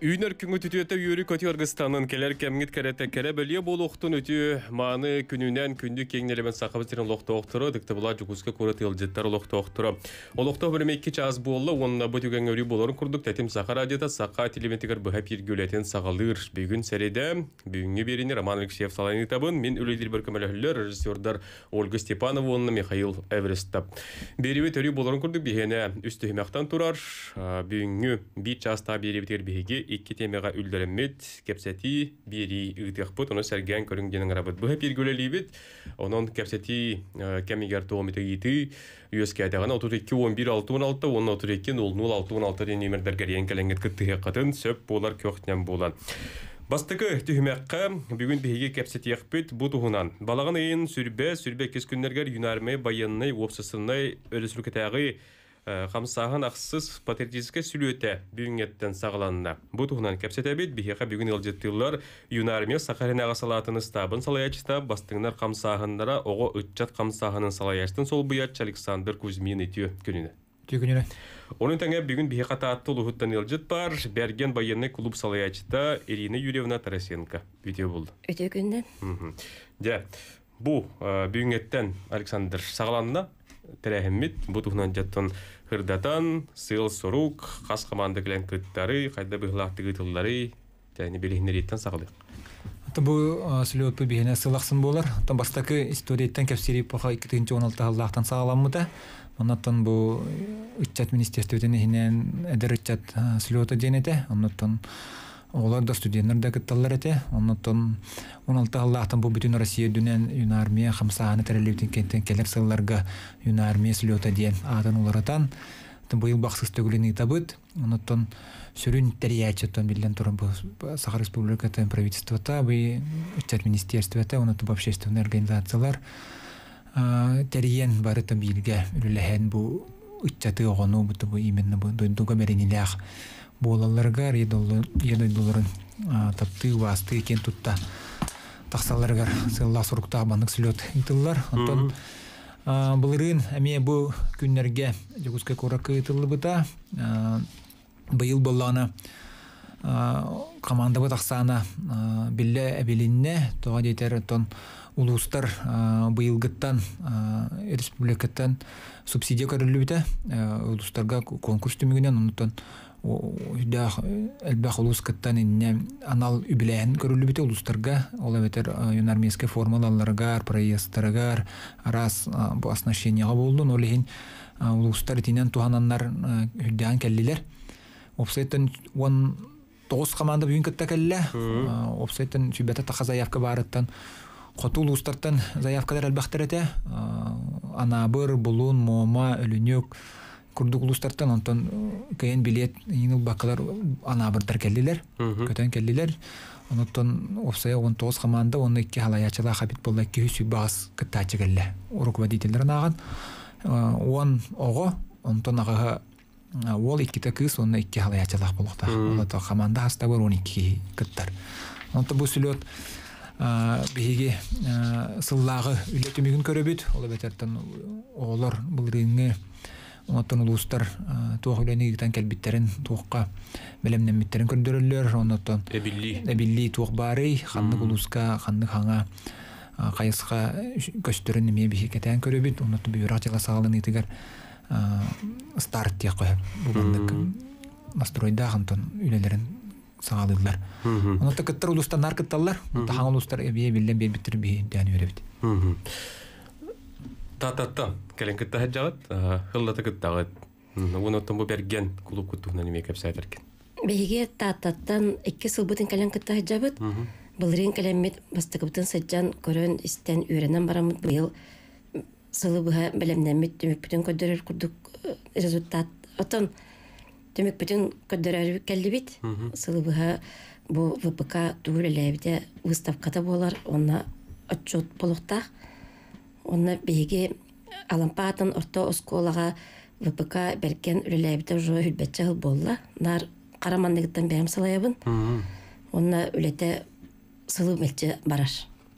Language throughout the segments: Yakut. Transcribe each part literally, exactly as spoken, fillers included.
Үүнэр күҥҥүт үтүөтэ үөрүү көтүү аргыстанын кэлэр кэмҥит кэрэтэ кэрэ бэлиэ буолуохтун үтүө мааны күнүнэн күндү киэҥ нэлэмэн Сахабыт сирин олохтоохторо, ытыктабыллаах Дьокуускай куорат ыалдьыттар олохтоохторо. Олохтоох бириэмэ икки чаас буолла уонна бу түгэҥҥэ өрүү буоларын курдук Тэтим Саха радиота Саха телевидениетыгар быһа эфиргэ үлэтин саҕалыыр. Бүгүн сэрэдэ, бүгүҥҥү биэриини Роман Алексеев салайан ыытабын. Мин үлэлиирбэр көмөлөһөллөр режиссердар Ольга Степанова уонна Михаил Эверестов. Биэриибит өрүү буоларын курдук биһиэнэ үс түһүмэхтэн турар. Бүгүҥҥү биир чаастаах биэриибитигэр биһиги икки тиэмэҕэ үллэрэммит кэпсэтии биэрии ыытыахпыт. Ону сэргээн көрүҥ диэн ыҥырабыт. Быһа эфиргэ үлэлиибит. Онон кэпсэтии кэмигэр туом ыйытыы үөскээтэҕинэ отут икки уон биир алта уон алта уонна отут икки нөл нөл алта уон алта диэн нүөмэрдэргэ эрийэн кэлэҥҥит кыттыһыаххытын сөп буолар көх-нэм буолан. Бастакы түһүмэххэ бүгүн биһиги кэпсэтиэхпит бу туһунан. Балаҕан ыйын сүрбэ, сүрбэ иккис күннэргэр Юнармия байыаннай уопсастыбаннай өрөспүүбүлүкэтээҕи хамсааһын ахсыс патриотическай сүлүөтэ бүгүҥҥэттэн саҕаланна. Бу туһунан кэпсэтэбит. Биһиэхэ бүгүн ыалдьыттыыллар Юнармия Саха сиринээҕи салаатын ыстаабын салайааччыта, бастыҥнар хамсааһыннара оҕо ыччат хамсааһынын салайааччытын солбуйааччы Александр Кузьмин үтүө күнүнэ. Үтүө күнүнэ. Онун тэҥэ бүгүн биһиэхэ Таатта улууһуттан ыалдьыт баар, Бэргэн байыаннай клуб салайааччыта Ирина Юрьевна Тарасенко. Үтүө буолду. Үтүө күнүнэн. Дьэ, бу бүгүҥҥэттэн Александр саҕаланна. Тэрээһиммит бу туһунан дьаттан хырдатан, сыал-сорук, хас команда кэлэн кыттары, хайда быһылаахтык ыытыллары, тэни билиһиннэрииттэн саҕалыах. Бу слет биһиэнэ сыл ахсын буолар. Оттон бастакы историяттан кэпсиир эпоха икки тыһыынча он алта сыллаахтан саҕаламмыта. Оннуттан бу ыччат министерствотын иһинэн эдэр ыччат слета диэн этэ. Оннуттан оҕолор да студенттар да кытталлар этэ. Оннуттан он алта сыллаахтан бу бүтүн Россия үрдүнэн Юнармия хамсааһына тэриллибитин кэнниттэн кэлэр сылларга Юнармия слета диэн аатын уларытан быйыл бахсыс төгүлүн ыытабыт. Оннуттан сүрүн тэрийээччи биллэн туран бу Саха Республикатын правительствота, бу ыччат министерствота, оннуттан бу общественный организациялар тэрийэн барыта бииргэ үлэлэһэн бу ыччаты оҕону бу бу именно бу дойдуга бэринилээх буолалларыгар ийэ дойдуларын таптыы убаастыы киэн тутта тахсалларыгар сыаллаах соруктаах маннык слет ыытыллар. Онтон былырыын эмиэ бу күннэргэ Дьокуускай куоракка ыытыллыбыта. Быйыл буоллаҕына командабыт ахсаана биллэ эбилиннэ. Тоҕо диэтэр оттон улуустар быйылгыттан республикаттан субсидия көрүллүбүтэ. Улуустарга конкурс түмүгүнэн оннуттан үрдээх элбэх улуус кыттан иннэ анал үбүлээһин көрүллүбүтэ улуустарга. Ол эбэтэр юнармейскай формаларыгар, проездтарыгар, араас бу оснащениеҕа буоллун. Ол иһин улуустар итинэн туһананнар үрдээн кэллилэр. Уопсайтан уон тоҕус команда бүгүн кытта кэллэ. Уопсайтан сүүрбэтэ таха заявка баарыттан хоту улуустартан заявкалар элбэхтэр этэ. Анаабыр, Булун, Муома, Өлүнүк курдук улуустартан онтон кыайан билиэт иин ылбаккалар анаабырдар кэллилэр, көтөн кэллилэр. Онуттан уопсайа он тоҕус команда, онно икки халаячылаах эбит буолла, икки үс сүүс кыттааччы кэллэ. Руководителлэрин ааҕан уон оҕо, онтон аҕыһа уол, иккитэ кыыс, онно икки халаячылаах буолуохтаах. Оното команда хастабыр он икки киһи кыттар. Онто бу слет биһиги сыллааҕы үлэ түмүгүн көрөбүт. Ол эбэтэртэн оҕолор былырыыҥҥы онтон улуустар туох үлэни ыытан кэлбиттерин, туохха бэлэмнэммиттерин көрдөрөллөр. Оннуттан эбиллии. Эбиллии туох баарый, ханнык улууска, ханнык хаҥа хайысха көстөрүн эмиэ биһи кэтээн көрөбүт. Оннуттан бүөрэх дьыла саҕаланыытыгар старт диэх көһө. Бу маннык настройдаах онтон үлэлэрин саҕалыыллар. Оннуттан кыттар улуустар кытталлар. Таһаҥ улуустар эбие биллэн биэрбиттэр биһи дээн үөрэбит. Тааттаттан кэлэн кытта сылдьаҕыт, һыллата кыттаҕыт. Уонуттан бу Бэргэн клуб куттуһунан эмиэ кэпсээтэргин. Биһиги Тааттаттан икки сылбытын кэлэн кытта сылдьабыт. Былырыын кэлэммит бастакыбытын сылдьан көрөн истэн үөрэнэн бараммыт быйыл сылы быһа бэлэмнэммит түмүкпүтүн көрдөрөр курдук результат. Оттон түмүкпүтүн көрдөрөр кэллибит. Сылы быһа бу вэ пэ ка тугу үлэлээбитэ выставката буолар, онно отчет буолуохтаах. Онно биһиги Алампаатын орто оскуолаҕа вэ пэ ка Бэргэн үлэлээбитэ уже сүүрбэччэ сыл буолла. Наар хара манныгыттан бэйэм салайабын. Онно үлэтэ сылы мэлдьи барар.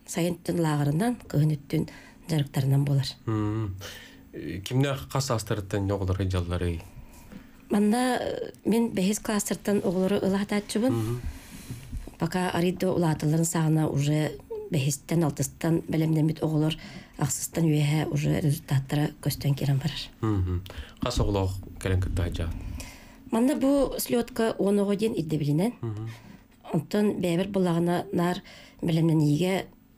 Сайын үттүн лааҕырынан, кыһын үттүн дьарыктарынан буолар. Кимнээх хас саастарыттан оҕолор дьалларый? Манна мен бэһис класстартан оҕолору ылаһатааччыбын. Пока арыйда улааталларын саҕана уже бэһистэн, алтыстан бэлэмнэммит оҕолор ахсыстан үөһэ уже результаттара көстөн киирэн барар. Хас оҕолоох кэлэн кыттаһа? Манна бу слетка уон оҕо диэн ирдэбилинэн. Онтон бэйэбэр буллаҕына наар бэлэмнэниигэ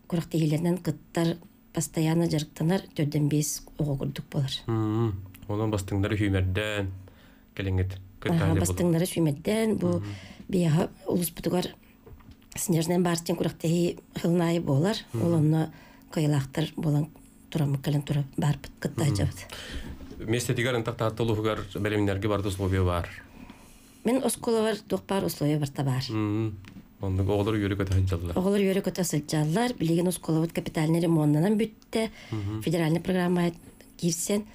күрэхтэһиилэринэн кыттар, постоянно дьарыктанар төрдөн биэс оҕо курдук буолар. Онон бастыҥнары сүүмэрдээн кэлэҥҥит кыттаһа. Бастыҥнары сүүмэрдээн бу биһиэхэ улууспутугар Снежный барс диэн күрэхтэһии сылын аайы буолар. Ол онно кыайыылаахтар буолан тураммыт кэлэн тура барбыт кытта сылдьабыт. Миэстэтигэр ынтах Таатта улууһугар бэлэмнэргэ барыта условия баар. Мин оскуолабар туох баар условия барыта баар. Оннук оҕолор үөрэ-көтө сылдьаллар. Оҕолор үөрэ-көтө сылдьаллар. Билигин оскуолабыт капитальный ремоннанан бүттэ. Федеральный программа киирсэн,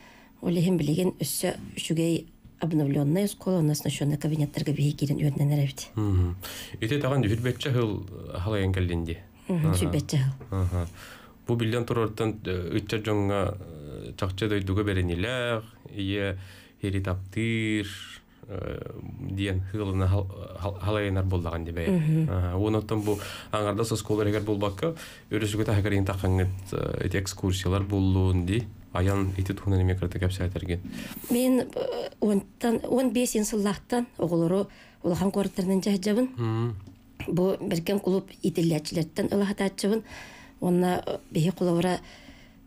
ол иһин билигин өссө үчүгэй обновленная школа, у нас оснащенный кабинеттарга биһи киирэн үөрэнэн эрэбит. Ити таҕан сүүрбэччэ сыл халайан кэллин дии. Сүүрбэччэ сыл. Бу биллэн турартан ыччат дьоҥҥо чахчы дойдуга бэриниилээх, ийэ ири таптыыр диэн сыалына халайынар буоллаҕын дии бэйэ. Уонуттан бу аҥардас оскуола иһигэр буолбакка, өрүсүгү таһыгар иһин таххаҥҥыт ити экскурсиялар буоллун дии. Айан ити туһунан эмиэ кырата кэпсээтэргин. Мин уонтан уон биэс сыллаахтан оҕолору улахан куораттарынан дьаһайдьабын. Бу Бэргэн кулууп иитиллээччилэртэн ылаһатааччыбын. Уонна биһи холобура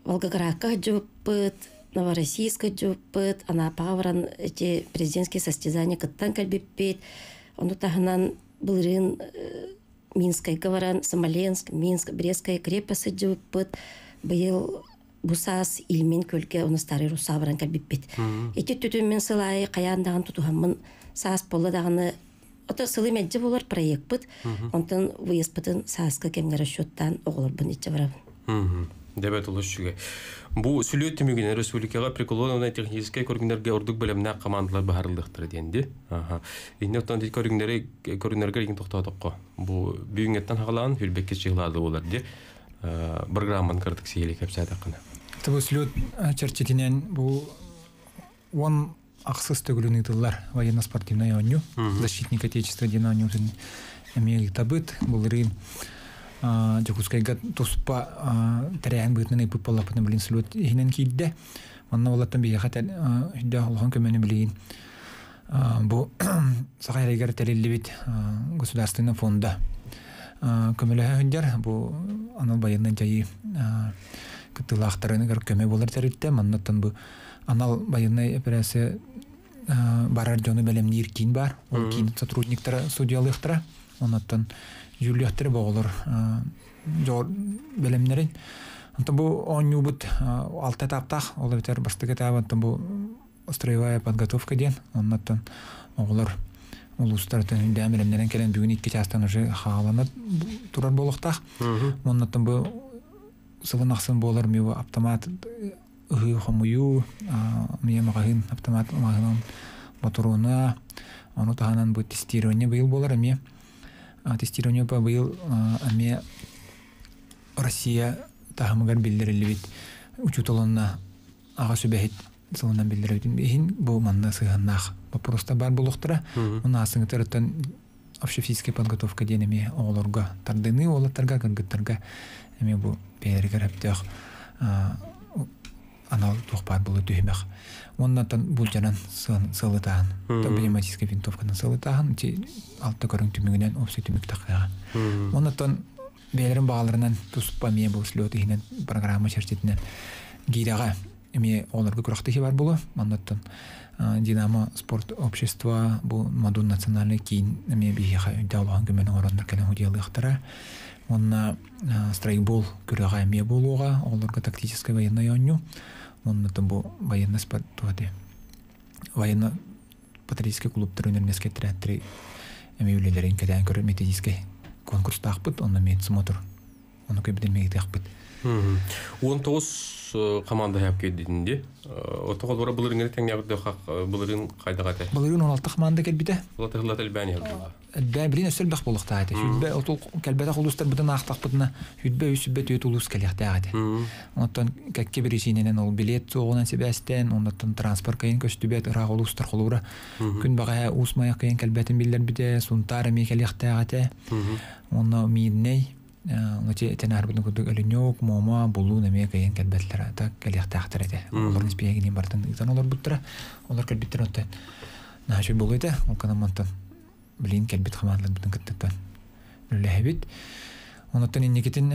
Волгоградка сылдьыбыппыт, Новороссийска сылдьыбыппыт, Анапаҕа баран эти президентские состязания кыттан кэлбиппит. Ону таһынан былырыын Минскайга баран Смоленск, Минск, Брестская крепость сылдьыбыппыт. Быйыл бу саас Ильмень күөлгэ уонна Старый Руссаҕа баран кэлбиппит. Ити түтүн мин сыл аайы хайаан даҕаны тутуһаммын саас буолла даҕаны ото сылы мэлдьи буолар проекпыт. Онтон выездпытын сааскы кэмҥэ расчеттаан оҕолорбун иччэ барабын. Дебет олус үчүгэй. Бу сүлүөт түмүгүнэн республикаҕа прикладной техническэй көрүҥнэргэ ордук бэлэмнээх командалар быһаарыллыахтара диэн дии. Инне оттон ити көрүҥнэри көрүҥнэргэ игин тохтоотоххо. Бу бүгүҥҥэттэн хаҕалаан сүүрбэккэ чыгылаады буолар дии. Программан кырдык сиһили кэпсээтэххинэ. Бу слет чэрчитинэн бу уон ахсыс төгүлүн ыытыллар военно-спортивнай оонньуу. Защитник Отечества диэн оонньуутун эмиэ ыытабыт. Былырыын Дьокуускайга туспа тэрээһин быһыытынан ыыппыт буоллахпытына билин слет иһинэн киирдэ. Манна олаттан биһиэхэ үрдээх улахан көмөнү билигин бу Саха сиригэр тэриллибит государственный фонда көмөлөһө сылдьар. Бу анал байыаннай дьайыы кыттыылаахтарыгар көмө буолар тэрилтэ. Маннаттан бу анал байыаннай операция барар дьону бэлэмниир киин бар. Ол киин сотрудниктара судьялыахтара. Оннуттан дьүүллүөхтэрэ бу оҕолор бэлэмнэрин. Онтон бу оонньуубут алта этаптаах. Ол эбэтэр бастакы этабы онтон бу строевая подготовка диэн. Оннуттан оҕолор улуустартан үрдээн бэлэмнэрин кэлэн бүгүн икки чаастан уже хаалана турар буолуохтаах. Оннуттан бу сылын ахсын буолар ми автомат ыһыы хомуйуу, мия маҕаһыын автомат маҕаһыын ботуруона, ону таһынан бу тестирование быйыл буолар эмиэ. Тестирование быйыл эмиэ Россия таһымыгар биллэриллибит учууталынна аҕа сүбэһит сылынан биллэрбитин иһин бу манна сыһыаннаах боппуруостар баар буолуохтара. Уонна аассыҥытарыттан общефизическая подготовка диэн эмиэ оҕолорго тардыныы уолаттарга, кыргыттарга эмиэ бу бэйэлэригэр сөптөөх анал туох баар буолуо түһүмэх. Уоннаттан булдьанан сыалытааһын, пневматическай винтовканан сыалытааһын, ити алта көрүҥ түмүгүнэн общий түмүк тахсыаҕа. Уоннаттан бэйэлэрин баҕаларынан туспа эмиэ бу слет иһинэн программа чэрчитинэн гиирэҕэ эмиэ оҕолорго күрэхтэһии бар буолуо. Маннаттан Динамо спорт общество бу Модун национальный киин эмиэ биһиэхэ үрдээх улахан көмөнү оҥороннор кэлэн удьуолуохтара. Уонна страйкбол күрэҕэ эмиэ буолуоҕа, оҕолорго тактическай военнай оонньуу. Уонна бу военный спорт военно патриотическай клубтар үнэрмэскэ тирээттери эмиэ үлэлэрин кэтээн көрөр методическай конкурстаахпыт, онно эмиэ смотр, ону көбүтэн мегитиэхпит. Он тоҕус команда хап келдинди. Отоҕо бара былырын тэҥнээх былырын хайдах этэ? Былырын он алта команда келбите. Улата хыллат элбээн иһэлдэ. Элбээн билин өссө элбэх буолуохтаах этэ. Сүлбэ отул кэлбэтэх улуустар бытын аахтахпытына сүлбэ үс сүлбэ түөрт улуус кэлиэхтээх этэ. Онтон кэккэ биричиинэнэн ол билет суоҕунан сибээстээн, оннуттан транспорт кайын көстүбэт ыраах улуустар холуура. Күн баҕаһа Уус Майа кайын кэлбэтин биллэрбитэ, Сунтаар эмиэ кэлиэхтээх этэ. Онно Миирнэй, Ону этен арбытын курдук Өлүнүк, Мома, Булуун эмиэ кайын кэлбэтлэр ата кэлиэхтээхтэр этэ. Олорун испиэгинин бартын ыытан олорбуттара. Олор кэлбиттэр онтон наһаа үчүгэй буолуо этэ. Ол канан мантан билин кэлбит хамаандаларбытын кыттыттан үлэлэһэбит. Онуттан инникитин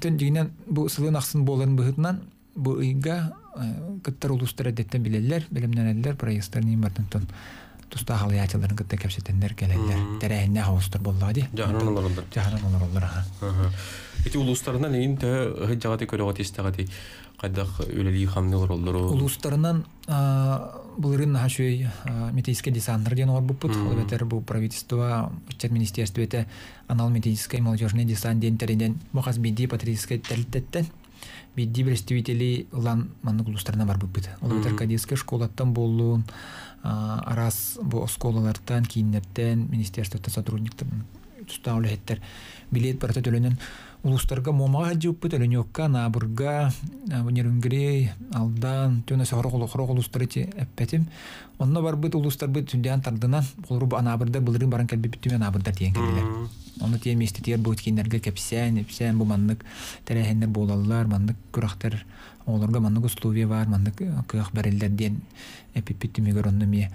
тэн дьигинэн бу сылын ахсын буоларын быһытынан бу ыйга кыттар улуустар эдеттен билэллэр, билимнэнэллэр, проездтарын бартын тустаах алыячыларын кытта кэпсэтеннер келеллер. Тэрээһиннээх оҕустар буоллаҕа дии. Жаһанан олороллор. Жаһанан олороллор, аха. Ити улуустарынан эйин төһө ыһыт көрөҕөт истэҕэти хайдах үлэлии хамны олороллору. Улуустарынан былырыын наһаа үчүгэй методический десанттар диэн оҥорбуппут. Ол эбэтэр бу правительство, ыччат министерствота анал методический молодежный десант диэн тэринэн бу хас биирдии патриотическай тэрилтэттэн биирдии представители ылан маннык улуустарына барбыппыт. Ол эбэтэр кадетскай школаттан буоллун, араас бу оскуолалартан, кииннэртэн, министерствоттан сотрудниктар, тустаах үлэһиттэр билет барыта төлөнөн улуустарга Муомаҕа сылдьыбыппыт, Өлүнүөккэ, Анаабырга, Нерюнгри, Алдан, түөнэ сорох сорох улуустары ити эппэтим. Онно барбыт улуустарбыт сүрдээн тардынан, холобур бу Анаабырдар былырыын баран кэлбиппит түмэн Анаабырдар тиийэн кэллилэр. Онно тиийэн миэстэтигэр бу кииннэргэ кэпсээн, ипсээн бу маннык тэрээһиннэр буолаллар, маннык күрэхтэр, оҕолорго маннык условия баар, маннык кыах бэриллэр диэн эппиппит түмүгэр онно эмиэ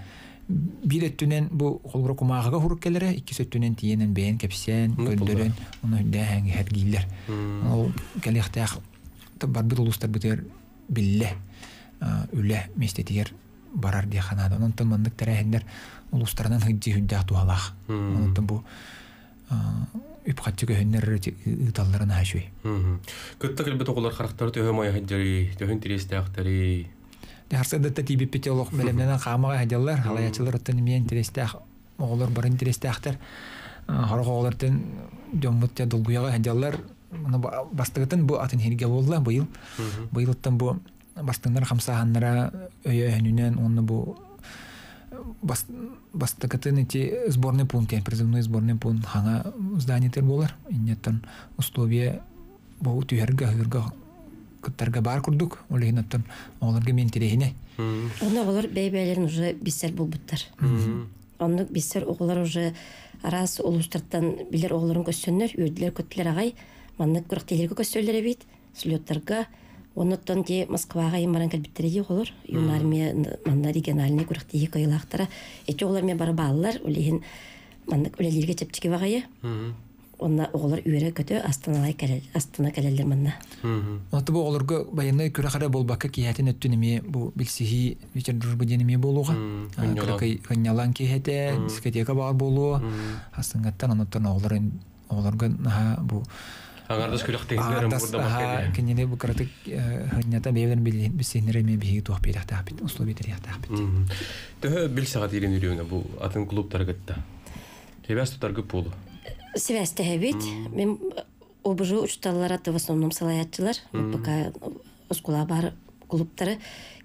биир өттүнэн бу холобура кумааҕыга хурук кэлэрэ, иккис өттүнэн тиийэнэн бэйэн кэпсээн, көрдөрөн, ону үрдээһэн иһэргииллэр. Ол кэлиэхтээх барбыт улуустарбытыгар биллэ үлэ миэстэтигэр барар диэхэ наада. Онтон маннык тэрээһиннэр улуустарынан сылдьыы сүрдээх туһалаах. Онтон бу үп-харчы көһүннэр ыыталларын наһаа үчүгэй. Кытта кэлбит оҕолор харахтары төһө май сылдьарый, төһөн интэриэстээхтэрий? Харсыдатта тиийбиппит олох бэлэмнэнэн хаамаҕа сылдьаллар, халаяччылар оттон эмиэ интэриэстээх оҕолор бары интэриэстээхтэр. Сорох оҕолортон дьоммут дьэ долгуйаҕа сылдьаллар. Бастакытын бу атын сиргэ буолла быйыл. Быйылыттан бу бастыҥнар хамсааһыннара өйөһүнүнэн уонна бу бастакытын ити сборный пункт, призывной сборный пункт хаҥа зданиетер буолар. Иннеттан условия бу түһэргэ, ыһыырга кыттарга бар курдук, ол иһин оттон оҕолорго мен интэриэһинэй. Онно оҕолор бэйэ-бэйэлэрин уже билсэр буолбуттар. Оннук билсэр оҕолор уже араас улуустартан билэр оҕолорун көссөннөр, үөрдүлэр көттүлэр аҕай, маннык күрэхтэһиилэргэ көссөллөр эбит, слеттарга. Оннуттан те Москваҕа айан баран кэлбиттэрэ дии оҕолор. Юнармия манна региональный күрэхтэһии кыайыылаахтара. Эти оҕолор мен бары бааллар, ол иһин маннык үлэлииргэ чэпчэки баҕайы. Онна оҕолор үөрэ-көтө астыналай кэлэл, астына кэлэллэр манна. Онто бу оҕолорго байыаннай күрэх эрэ буолбакка киэһэтин өттүн эмиэ бу билсиһии вечер дружбы диэн эмиэ буолуоҕа. Кыракый хынньалаҥ киэһэтэ, дискотека баар буолуо. Астыҥҥаттан онуттан оҕолор оҕолорго наһаа бу Аҥардас күрэхтэһиилэрин Аҥардас аһаа кинини бу кыратык хынньата бэйэлэрин билсиһиннэрэ эмиэ биһиги туох биэриэхтээхпит, условия тэрийиэхтээхпит. Төһө билсэҕэ диирин үрүөҥэ бу атын клубтары кытта? Сибээс тутаргыт буолу? Сибээстэһэбит. Мин О Б Ж учуталлара в основном салаяччылар. Пока оскуола бар клубтары.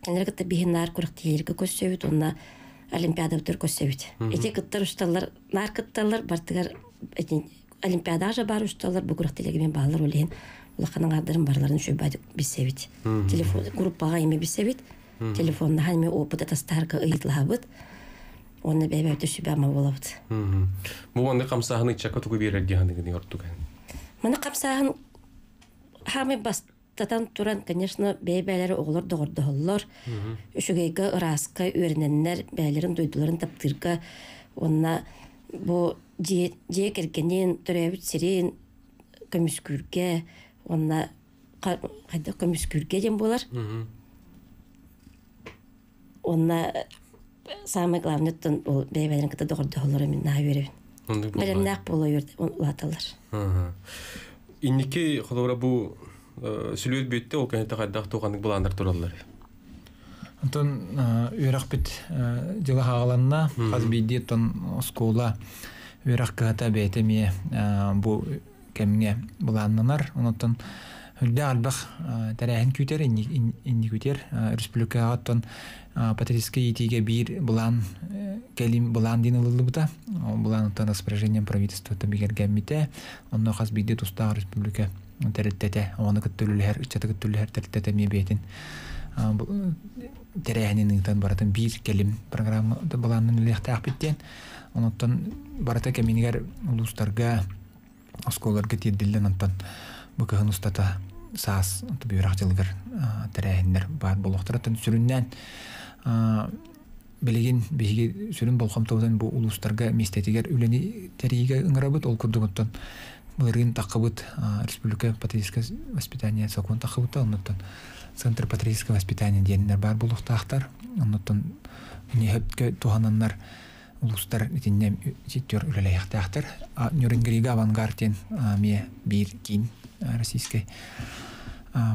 Кинилэр кытта биһин наар күрэхтэһиилэргэ көссөбүт, онно олимпиадабытыгар көссөбүт. Эти кыттар учуталлар наар кытталлар, бартыгар эти олимпиада же бар учуталлар, бу күрэхтэһиилэргэ мен бааллар ол иһин улахан аҥаардарын барыларын үчүгэй билсэбит. Телефон группаҕа эми билсэбит. Телефоннаһан эми опыт атастаһарга ыйытылаһабыт. Онно бэйбэбит сүбэ ама буолабыт. Бу маннык хамсааһын ыччакка тугу биэрэр дии саныыгын ордук? Маны хамсааһын хаамай бастатан туран, конечно, бэйбээлэри оҕолор доҕордоһоллор. Үчүгэйгэ ырааска үөрэнэннэр, бэйэлэрин дойдуларын таптыырга, онно бу дьиэ дьиэ кэргэнин, төрөөбүт сирин көмүскүүргэ, онно хайдах көмүскүүргэ диэн буолар. Онно самое главное оттон ол бэйбээлэрин кытта доҕордоһоллоро мин наһаа үөрэбин. Бэлэмнээх буола улааталлар. Инники холобура бу сүлүөт бүттэ, ол кэнниттэн хайдах туоханнык былааннар тураллар? Онтон үөрэхпит дьыла хааланна, хас биирдии оттон оскуола үөрэх кыһата бэйэтэ эмиэ бу кэмҥэ былааннанар. Онтон Хүлдә албах тәрәһин күтер, инни күтер. Республикаға тон патриотический итиге бир булан келим булан дин ылылыбыта. Булан тон распоряжением правительства бигергәммите. Онно хас биде туста республика тәреттете, оны көттөлүләр, ичаты көттөлүләр тәреттете мебетин. Тәрәһинин ыйтан баратын бир келим программа буланын үлехтәк биттен. Онуттан барата кеминигер улустарга осколарга тиеддилен онтон бу кыһын устата саас бүйрах жылгыр тәрәһиннер бар болуқтаратын сүрүннән билигин биһиги сүрүн болхомтобутан бу улустарга местетигер үлени терииге ыңырабыт ол курдугуттан былырыын таққыбыт республика патриотическое воспитание сокун таққыбыта оннуттан центр патриотического воспитания диэннер бар болуқтаахтар оннуттан нехөпкө тухананнар улустар итинне ситтер үлелэйхтаахтар Нюрнберга авангард ме бир кин российской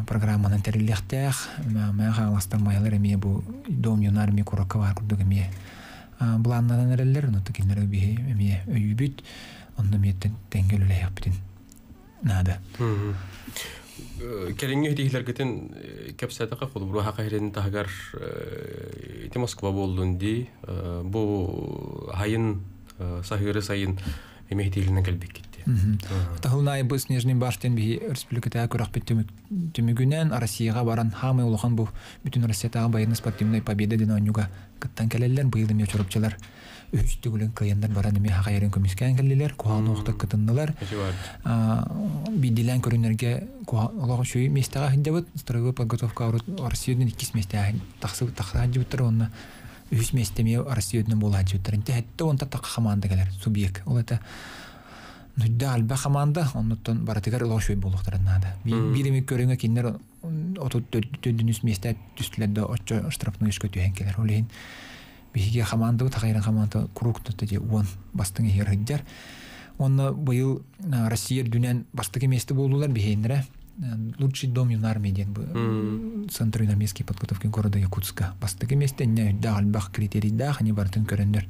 программанан терилехтэх мэ хааластар маялар эме бу дом юнармии куракка бар курдук эме буланнанан эреллер онно киннер биһи эме өйүбүт онно миэттен тенгел үлэйхпитин надо. Келиңге хитихлергетин кепсәтәкә холбуру хакыйрын тагар ити Москва болдун ди бу хайын сахыры сайын эме хитихлеринен келбек кетти. Тахылнай бу снежный баштен би республиката көрәк бит түмүгүнән Россияга баран хамы улахан бу бүтүн Россиятагы военно спортивный победа ден ойнуга кыттан келелер быйыл эме чорупчылар үч түгүлүн кыяндар баран эме хакайрын көмүскән келлелер кухан окта кытыннылар бидилен көрүнөргө олог шуй местага хиндебит строевой подготовка Россиянын иккис местага таксы такса хиндебиттер онна үч местеме Россиянын була хиндебиттер инте хетте онта такка команда келер субъект ол это Нүдді алба команда, оннуттан баратыгар олог шуй болуктарын нада. Бирими көрүңө киндер оту төдүнүс месте түстүлөрдө очо штрафной ишке түйен келер. Олейин биһиге команда тагайран команда круг же уон бастың хер хыджар. Онна быйыл Россия дүнән бастыгы месте болдулар бихейнере. Лучший дом юнармии ден бу центр юнармейской подготовки города Якутска. Бастыгы месте не да альбах критерий да, они бартын көрөндөр.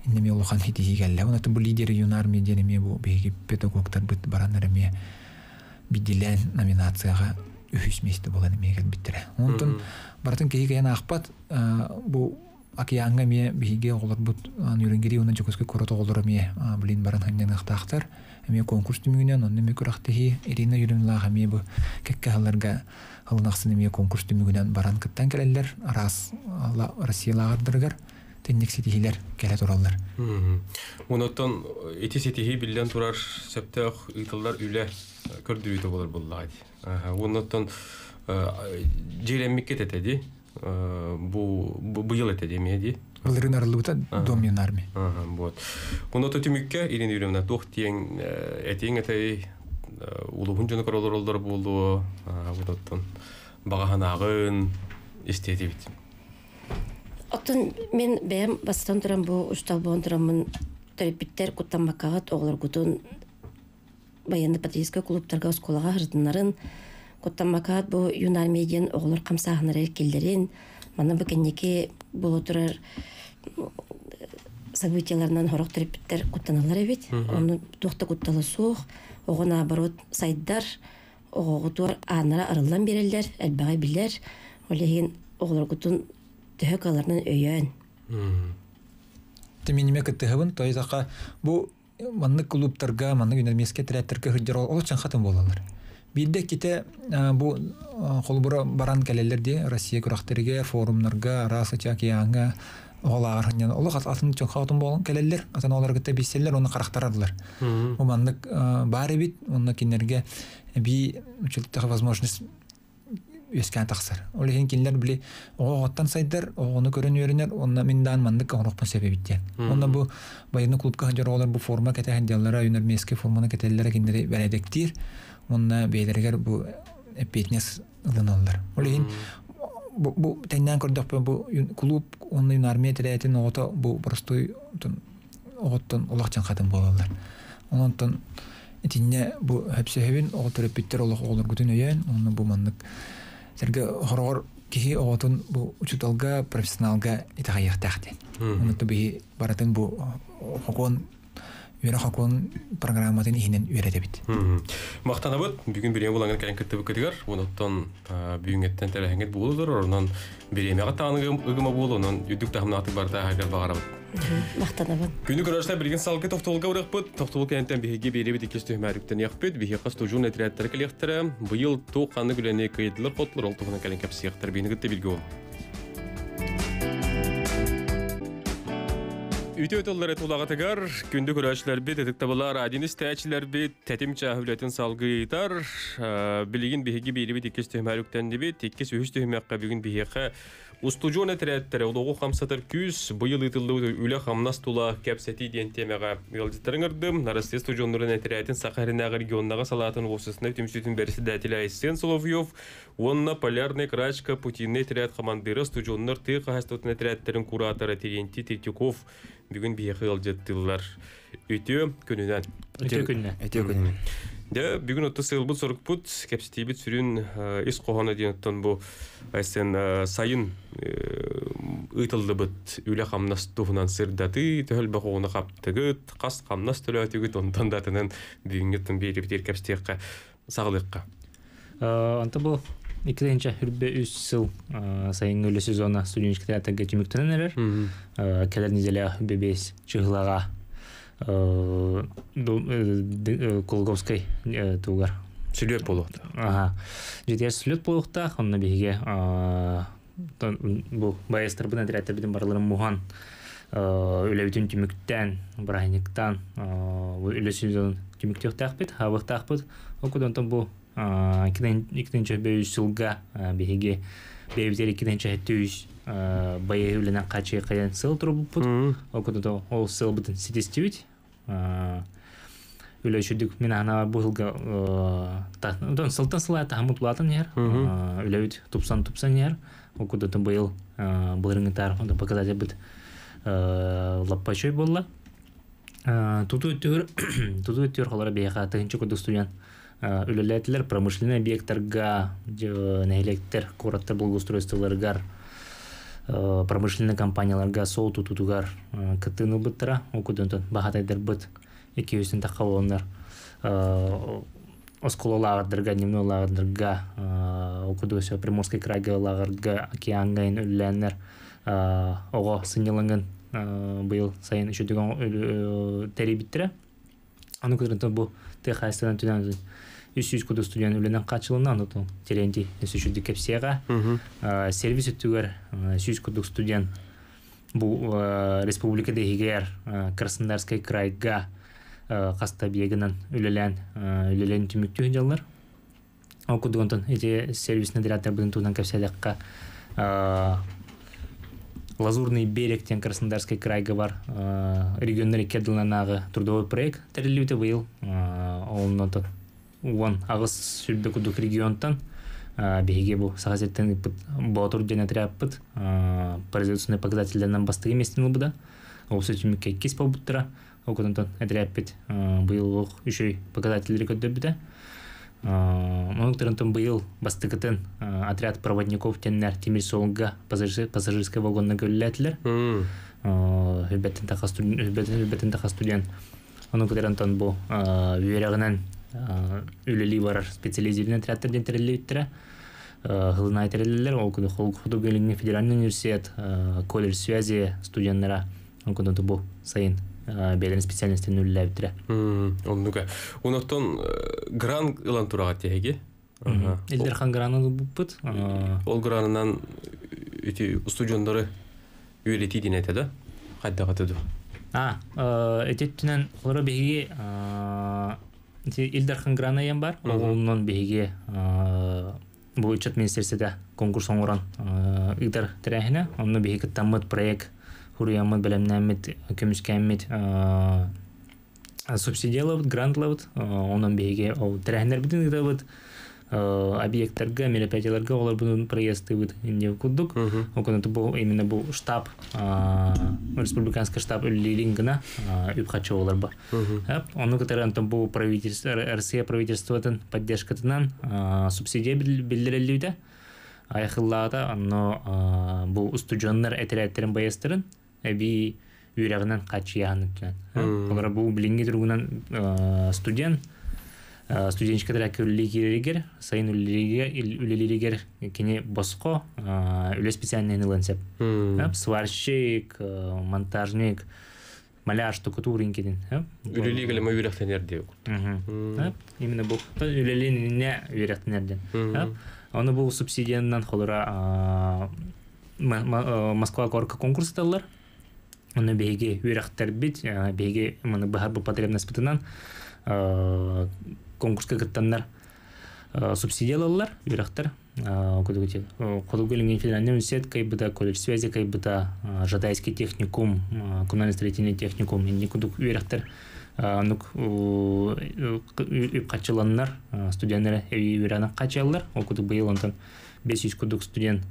Иннеме улахан хитиһи кэллэ. Онатын бу лидер юнармии диэн бу биһиги педагогтар быт бараннар эме бидилэн номинацияга үһүс месте болан эме кэлбиттере. Онтон бартын киһи кэйэн аахпат бу океанга эме биһиги оҕолор бут Нюрнберги уна Дьокуускай куорат оҕолоро эме билин баран ханньаныахтаахтар. Эме конкурс түмүгүнэн онно эме күрэхтэһии Ирина Юрьевналаах эме бу кэккэ халларга халынахсын эме конкурс түмүгүнэн баран кыттан кэлэллэр араас Россиялааҕардарыгар тенник ситихилер келе тураллар. Онотон эти ситихи билден турар септех ыйтылдар үле көрдүрүтө болор буллаат. Онотон жереммикке тетеди бу быйыл этеди эмеди. Былырын арылыбыта дом юнармии. Вот. Оното түмүккө Ирина Юрьевна туох тиең этиң этей улуһун жону көрөлөр болду. Онотон багаханагын истетибит. Оттон мен бэйэм бастан туран бу устал буон тураммын төрөппүттэр куттаммаккаҕыт оҕолоргутун военно патриотическай клубтарга оскуолаҕа хырдыннарын куттаммакаҕыт бу юнармия диэн оҕолор хамсааһыннар киллэрин манна бу кэнники буола турар событияларынан хорох төрөппүттэр куттаналлар эбит. Ону туохта куттала суох оҕо наоборот сайдар оҕоҕутуар ааннара арыллан биэрэллэр элбэҕи билэр олиһин оҕолоргутун төһө каларынан өйөөн. Тиминиме кыттыһыбын, то есть ака бу маннык клубтарга, маннык юнармейский отрядтарга хыджар ол чан хатын болалар. Бирде ките бу холбура баран келелер ди Россия күрәхтерге, форумнарга, раса чакиянга оғалар хыннан олох атын чон хатын болан келелер, атын олар кытта бисселер, оны карактарадылар. Бу маннык бар бит, онны кинерге би училтага возможность үескән тахсар. Ол иһин кинилэр били оҕоҕоттан сайдар, оҕону көрөн үөрэнэр, онно мин даан маннык оҥоруохпун себебиттиэн. Онно бу военный клубка хадьар оҕолор бу форма кэтэһэн дьаллара, юнармейский форманы кэтэллэрэ кинилэри бэрээдэктиир. Онно бэйэлэригэр бу эппиэтинэс ылыналлар. Ол иһин бу, бу тэннээн көрдөхпүн бу клуб онно юнармия тэрээтин оҕото бу простой оҕоттон улах хатын буолаллар. Ононтон итинне бу хөпсөһөбүн оҕо төрөппүттэр олох оҕолоргутун өйөөн, онно бу маннык Сэргэ хорогор киһи оҕотун бу учуталга, профессионалга итаҕайыахтаах диэн. Онно биһи баратын бу хокон Үөрэх окуон программатын иһинэн үөрэтэбит. Махтанабыт бүгүн бириэмэ булаҥҥын кэлэн кыттыбыккытыгар, онон бүгүҥҥэттэн тэрээһиҥҥит буолулар, онон бириэмэҕэ тааны ыгыма буолу, онон үрдүк таһымнаахтык барыта аһаргар баҕарабыт. Махтанабын. Күнү көрөрсө билигин салгы тохтолга барыахпыт. Тохтол кэнниттэн биһиги биэриэбит иккис түһүмэҕэр биһиэхэ студьуон этэрээттэрэ кэлиэхтэрэ. Быйыл туох ханнык үлэни кыайдылар хоттулар, ол туһунан кэлэн кэпсиэхтэрэ. Биһигини кытта бииргэ буолуҥ. Үтүө тыллары тулаҕытыгар күндү көрөөччүлэрбит, ытыктабыллаах радионы истээччилэрбит, тэтим чааһы үлэтин салгыытар. Билигин биһиги биэрибит иккис түһүмэҕэр үктэннибит. Иккис үһүс түһүмэххэ бүгүн биһиэхэ устудьуон этэрээттэрэ олоҕу хамсатар күүс, быйыл ыытыллыбыт үлэ хамнас тула кэпсэтии диэн тиэмэҕэ ыалдьыттарын ыҥырдым. Россия студьуоннарын этэрээтин Саха сиринээҕи регионнааҕы салаатын уопсастыбаннай түмсүүтүн бэрэссэдээтэлэ Айсен Соловьев уонна Полярная крачка путинный отряд командира студьуоннар тыа хаһаайыстыбатын этэрээттэрин куратора Терентий Третьяков бүгүн биһиэхэ ыалдьыттыыллар. Үтүө күнүнэн. Үтүө күнүнэн. Үтүө күнүнэн. Дьэ, бүгүн отто сыалбыт сорукпут, кэпсэтиибит сүрүн ис хоһооно диэн оттон бу Айсен сайын ыытыллыбыт үлэ хамнас туһунан сырдатыы, төһө элбэх оҕону хаптыгыт, хас хамнас төлөөтүгүт, онтон да атынан бүгүҥҥүттэн биэрибитигэр кэпсэтиэххэ, саҕалыахха. Онто бу икки тыһыынча үрбэ үс сыл сайыҥҥы үлэ сезона студенческий театрга түмүктэнэн эрэр. Кэлэр неделя бэбиэс чыһылаҕа Кулаковскай тугар. Сүлүөт буолуохтаах. Ага. Дьиэтигэр сүлүөт буолуохтаах, онно биһиги бу байыастарбын отрядтарбытын барыларын муһан үлэбитин түмүктээн, бырааһынньыктаан үлэ сезонун түмүктүөхтээхпит, хаабыахтаахпыт. Ол курдук онтон бу икки тыһыынча үс сылга биһиги бэйэбитигэр икки тыһыынча сэттэ үс байыаһы үлэнэн хааччыйа сыл турбуппут. Ол курдук ол сылбытын ситистибит. Үлэ үчүгдүк мин аһана бу сылга онтон сылтан сыл аайы таһыммыт улаатан иһэр. Үлэбит тупсан тупсан иһэр. Ол курдук быйыл былырыҥҥытаар показатель лаппа үчүгэй буолла. Тутуу өттүгэр тутуу өттүгэр холоро биһиэхэ тыһыынча курдук студент үлэлээтилэр промышленный объекттарга, нэһилиэктэр, куораттар благоустройстволарыгар, промышленный компанияларга сол тутуутугар кыттыыны ылбыттара. Ол курдук баһаатайдарбыт икки жүздэн тахха буоланнар оскуола лааҕырдарга, дневной лааҕырдарга, ол курдук өссө Приморский крайга лааҕырга, океаҥҥа үлэлээннэр оҕо сынньалаҥын быйыл сайын үчүгэй тэрийбиттэрэ. Аны кытары бу тыа хаһаайыстыбанан түнэн үс жүз курдук студент үлэнэн хааччылынна, аны Терентий өссө үчүгдүк кэпсиэҕэ. Сервис өттүгэр сүүс курдук студент бу республика иһигэр Краснодарскай крайга хаста объегынан үлэлээн үлэлээн түмүктүү дьаллар. Ол курдук онтон эти сервисный отрядтарбытын туһунан кэпсээтэххэ Лазурный берег диэн Краснодарский крайга бар регионнар икки ардыларынааҕы трудовой проект тэриллибитэ быйыл. Онон уон аҕыс сүүрбэ курдук регионтан биһиги бу Саха сириттэн ыыппыт Боотур диэн отрядпыт производственный показателлэринэн бастакы миэстэни ылбыта. Ол түмүккэ иккис буолбуттара. Ол курдук отрядпыт быйыл олох үчүгэй показателлэри көрдөрбүтэ. Онон быйыл бастакытын отряд проводников диэннэр тимир суолга пассажирскай вагонна үлэлээтилэр. Үбэттэн таха студент. Ону кытары онтон бу үөрэҕинэн үлэлии барар специализированный отрядтар диэн тэриллибиттэрэ. Хылынай тэриллэллэр. Ол курдук Хотугу Илиҥҥи федеральный университет, колледж связи студенттара. Ол курдук бу сайын бэйэлэрин специальностарын үлэлээбиттэрэ. Оннука. Онтон грант ылан тураҕа тиһиги? Ил Дархан гранын ылбыппыт. Ол гранынан ити устудьуоннары үөрэтии диэн этэ да? Хайдах этэ дуу? А, эти өттүнэн олоро биһиги Ил Дархан грана диэн бар. Онон биһиги бу ыччат министерствота конкурс оҥорон ыытар тэрээһинэ. Онно биһиги кыттаммыт проект хуруйаммыт, бэлэмнээммит, көмүскээммит субсидиялабыт, грантлабыт. Онон биһиги ол тэрээһиннэрбитин ыытабыт, объекттарга, мероприятияларга олорбутун проездтыыбыт инде курдук. Ол бу именно бу штаб, республиканский штаб үлэлиирин гына үп харчы олар бар. Ону кытары онтон бу правительство, Россия правительствотын поддержкатынан субсидия биллэрэллибитэ. Айхыллаата, онно бу устудьуоннар этэрээттэрин байыастарын эбии үөрэгинен качыяһын үттүнэн. Олара бу билинги тургунан студент студенчика үлли киреригер, сайын үлелеригер кини боско үле специальный ылын сеп. Сварщик, монтажник, маляр, штукатурин кидин. Үлелиге лема үйрәхтенер деп. Именно бу үлелине үйрәхтенерден. Оны бу субсидиянан холора Москва корка конкурс таллар. Оны беги үйрәхтер бит, беги маны бахар бу потребность бытынан конкурска кыттаннар субсидиялалар үйрәхтер. Кодугулинген федеральный университет кайбыта, колледж связи кайбыта, Жатайский техникум, коммунально-строительный техникум, инни кудук үйрәхтер. Нук үп качыланнар, студенттер эби үйрәнен качалар. Ол кудук быйыл онтон бес жүз кудук студент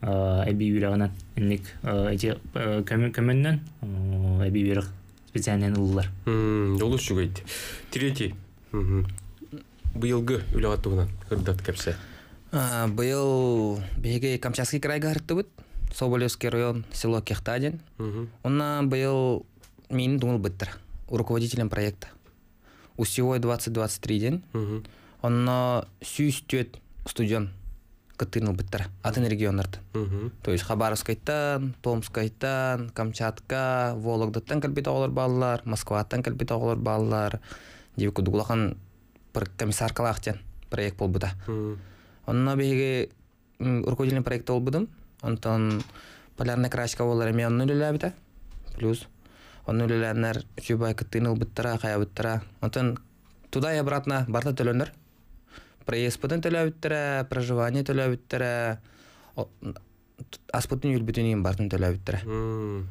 эби үйрәнен инник эти көмөннөн эби үйрәк специальный ыллар. Олус чугайт. Третий. Быйылгы үләгат тугунан кырдат кепсе. Быйыл биһиги Камчатский крайга харыттыбыт. Соболевский район, село Кехтадин. Онна быйыл мин думал быттыр руководителем проекта. Усевой двадцать двадцать три день. Онна сүүс түөт студент кыттыыныл быттыр атын регионнардан. То есть Хабаровскайтан, Томскайтан, Камчатка, Вологдаттан кэлбит оҕолор бааллар, Москваттан кэлбит оҕолор бааллар. Диби кудугулахан комиссаркалаахтен проект болбута. Онно биһиги руководитель проекта болбудум. Онтон полярная крачка болар эми онну үлэлээбитэ. Плюс онну үлэлээннэр үчүбай кыттыыныл быттара, хая быттара. Онтон туда и обратно барта төлөнөр. Проезд бытын төлөбүттэрэ, проживание төлөбүттэрэ, аспытын юлбүтүн бартын төлөбүттэрэ.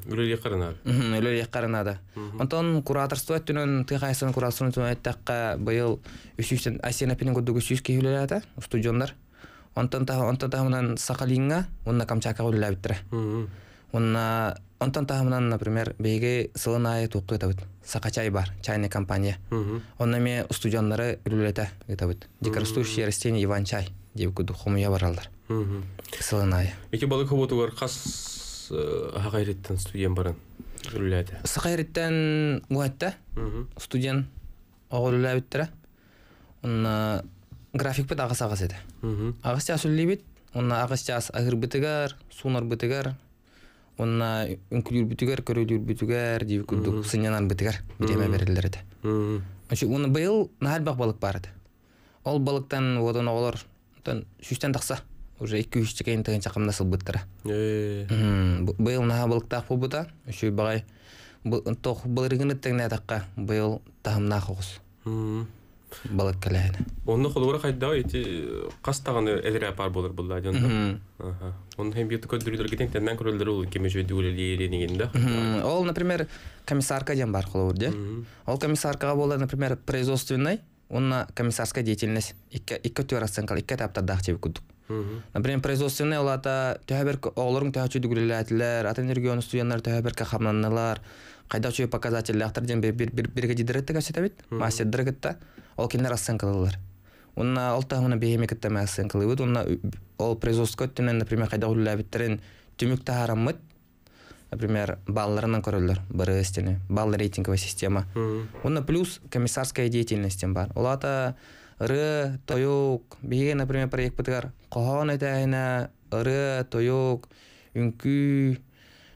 Үлэлиэх каранада. Үлэлиэх каранада. Онтон кураторство өттүнөн тыхайсын кураторствон өттүнөн айттакка быйыл үс жүздөн Асена пенен курдук үс жүз киһи үлэлээтэ, студенттар. Онтон онтон тахымынан Сахалинга, онна Камчатка үлэлээбиттэрэ. Онна онтон тахымынан, например, биһиги сылын айы туққы табыт. Саха чай бар, чайная компания. Онна ме студенттары үлэлэтэ табыт. Дикорастущие растения Иван чай деп куду хомуя баралдар. Сылын айы. Эки балык хоботугар хас хагайреттен студент баран үлэлэтэ. Сахайреттен уатта студент оҕол үлэлээбиттэрэ. Онна график бит агас агас эде. Агас час үллибит, онна агас час агыр бытыгар, сунар бытыгар, онна үҥкүлүүр бытыгар, көрөлүүр бытыгар, диби курдук сынньанар бытыгар биреме берилер эде. Ончу уну быйыл наһал балык бар эде. Ол балыктан водон оҕолор, онтон сүүстэн тахса, уже икки үс чекейин тыгын чакымна сылбыттара. Быйыл наһаа балыктаах буолбута, үчүй багай тох былырыгын ыттыгына такка быйыл таһымнаах оҕус. Балык кэлэһинэ. Онно холура хайда эти кастаганы элре апар болор булла дьонда. Онно хем бьют көдүрүлөр гитен теннен көрөлдөр ул кеме жөйдү үлелеринигинде. Ол, например, комиссарка дем бар холур де. Ол комиссаркага болар, например, производственный, онна комиссарская деятельность икки икки төр оценка, икки этапта дах чебик кудук. Например, производственный олата төһәбер оҕолорун төһәчү дүгүлэлээтилэр, атын регион студенттар төһәберке хамнаннылар, кайда чуй показательләхтер дем бир бир бирге дидеретте кәсетәбит, мастердер гытта. Ол киндер оценкалылар. Онна ол тахмына бейеме кыттама оценкалыбыт, онна ол производство өттүнөн, например, кайда үлләбиттерин түмүк тахараммыт, например, балларынан көрөлөр, БРС-тени, балл рейтинговая система. Онна плюс комиссарская деятельность бар. Олата ыры, тоюк, биге, например, проект бытыгар, кохон этәһинә, ыры, тоюк, үңкүү,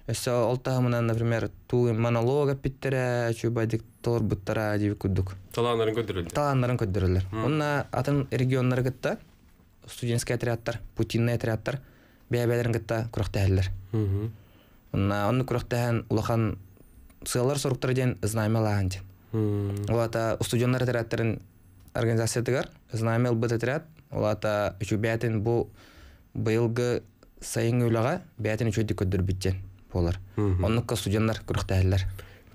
өссө ол тахмынан, например, туу монолог эппиттерэ, чубайдык тор буттара дип кудук. Талааннарын көдөрөлөр. Талааннарын көдөрөлөр. Онна атын регионнары гытта студенческий отрядтар, путинный отрядтар бәбәләрен гытта күрәхтәһәлләр. Онна онны күрәхтәһән улахан сыялар соруктар ден знамя лахан ден. Олата студенттар отрядтарын организациятыгар знамя быт отряд, олата үчү бәтин бу быйылгы сайын үләгә бәтин үчү көддөр биттен болар. Оннукка студенттар күрәхтәһәлләр.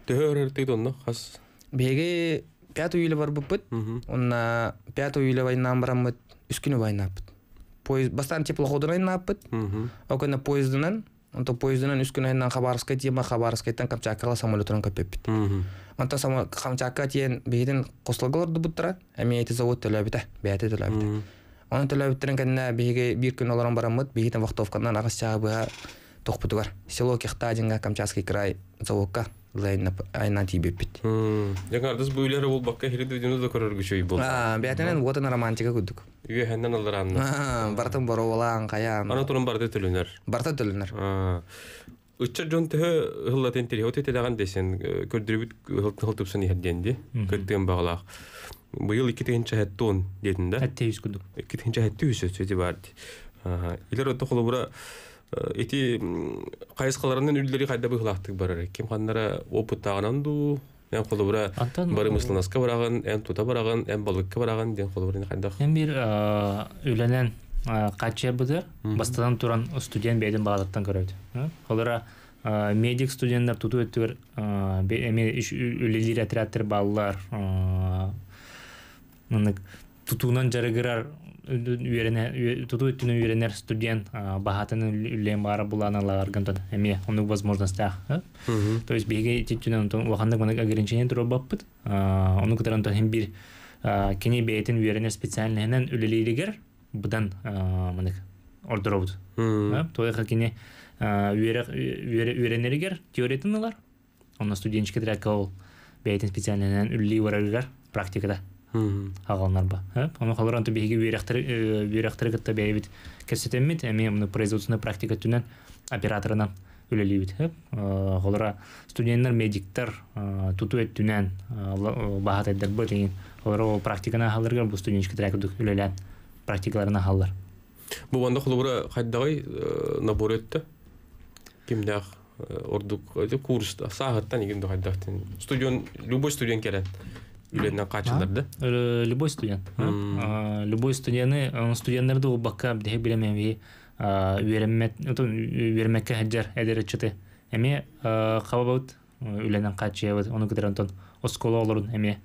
Төһөр тыйд онно хас. Беге пятый июля бар буппыт. Онна пятый июля войнан бараммыт, үс күнү войнаппыт. Поезд бастан теплоходун айнаппыт. Окона поездынан, онто поездынан үс күнү айнан Хабаровская тема, Хабаровскаяттан Камчаткага самолетунан көпөппүт. Онто само Камчатка тиен бегеден кослагалар дубуттара, эми эти завод төлөбүтэ, бэйэтэ төлөбүтэ. Оны төлөбүттерин кэннэ биһиги бир күн олорон бараммыт, бигитен вахтовканан агас чаабыга тохпутугар. Село Кехтадинга, Камчатский край, заводка Айна тибеппит. Яңардыс бу үйлері ол баққа хириді видеоны да көрөр күчөй бол. Аа, бәтенен уотын романтика күдүк. Үйе хәннән алар анна. Аа, бартын боровалаан каян. Ана турун барды төлөнөр. Барта төлөнөр. Аа. Үччер жон төһө хыллатын тири хоте тедаган десен көрдүрүбүт хылтыпсын иһерденди. Көттүн багалак. Быйыл iki тегинче хеттон дедин да. Әтте yüz күдүк. Iki тегинче хетти үсө сөйти барды. Аа, илер отто холобура эти кайыскаларынын үлдери кайда быхлактык барар. Ким ханнара опыттагынан ду, мен холобура бары мысланаска барагын, эн тута барагын, эн балыкка барагын ден холобура кайда. Мен бир үләнен кача быдыр, бастадан туран студент бейден багаттан көрөт. Холора медик студенттер туту өттүгөр эме үлелер отрядтар баллар, тутуунан жарыгырар үйрене туту өттүнө үйренер студент бахатын үлен бара буланалар гантон эме онук возможностях. То есть биге титүнөн улахандык мана ограничение туруп баппыт. Ону кытаран хем бир кени бейтин үйренер специальныйнан үлелеригер будан манык ордоробут. Тойга кени үйренеригер теориятын алар. Онно студенческий трекка ол бейтин специальныйнан үлли барарыгар практикада. Агалнар ба. Оны халар анты биһиги үерәхтер үерәхтер кытта бәйбит кесетеммит, эми муну производственная практика түнен операторынан үлелибит. Холора студенттер, медиктер туту эттүнен баһат эддер бу деген. Холора ол практиканы халыргар бу студенческий трек үлелән практикаларына халлар. Бу ванда холора кайдагай набор этте. Кимдәх ордук курста сааттан игин кайдактын. Студент, любой студент келет. Үленнен качылар да? Любой студент. Любой студенты, студентлерді ол баққа бідегі білемен үйренмекке хаджар әдері чыты. Әме қабабыт үленнен качы оны күтер Антон оскола олорун әме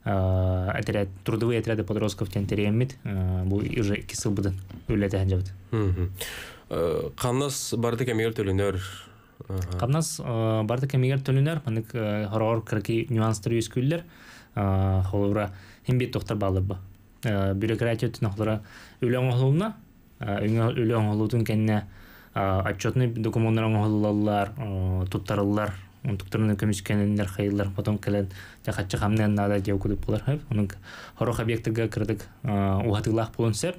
отряд, трудовые отряды подростков тентереммит, бу уже кисыл бұдын үлеті хаджабыт. Қамнас барды кемегер төлөнөр? Қамнас барды кемегер төлөнөр, манык хорор кырки нюанстар юскүллер. Холура хим бит доктор балыбы. Бюрократия түнө холура үлөң холуна, үлөң холутун кенне отчетный документтар холулалар, туттарылар, туттарыны көмүскенендер хайылар, потом келен жакачы хамнен нада деп күтүп болар. Онун хорох объекттерге кирдик, ухатылах болун сеп.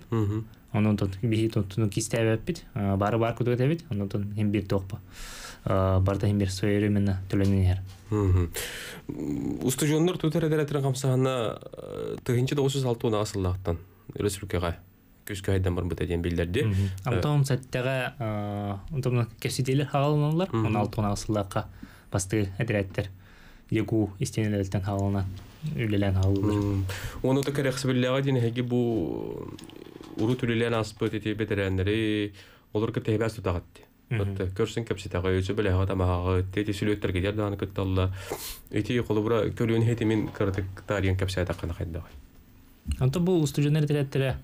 Онун тот бихи тотуну кистебеппит, бары бар күтүп этебит, онун тон хим бир токпа. Барда хим бир своевременно төлөнөр. Устужоннор тутар эдеретерин камсаһына тыгынчы тогуз жүз алты асыллаактан республикага күзгө айдан бар быта диэн билдерди. Антон сәттәгә онтон кесителер хагаланалар, он алты асыллаакка басты эдереттер. Егу истенелерден хагалана үлелен хагалылар. Оны та керекси биллега дин хеги бу уру түлелен аспыт эти бетереннери олар кытайбас тутагатты. Көрсен кепситага өсө беле хата мага тети сүлөттер кедер дааны кытталла. Эти холобура көлүн хетимин кырдык тарыян кепсета кана хайда. Анта бу студенттер тирәттере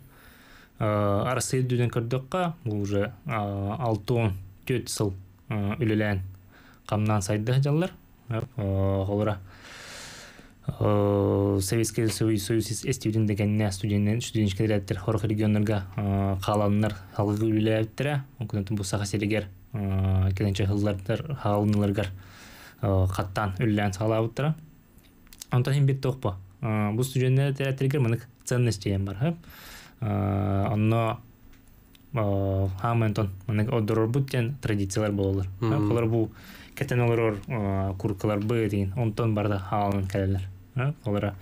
арасы дүден көрдөккә бу уже алты төрт сыл үлелән камнан сайды жаллар. Холора Советский Союз эстивдин дегенне студенттер студенческий тирәттер хорох регионнарга каланнар халгы үлеләптер. Онкунтун бу саха селегер келенче хыллардар халынларгар каттан үллән салабыттыра. Антон хим бит токпа. Бу студенттер тирәттергә моны ценность дигән бар. Анна хаментон моны одорор буттен традициялар болалар. Алар бу кетен олорор куркалар бы деген онтон барда халын келелер. Олара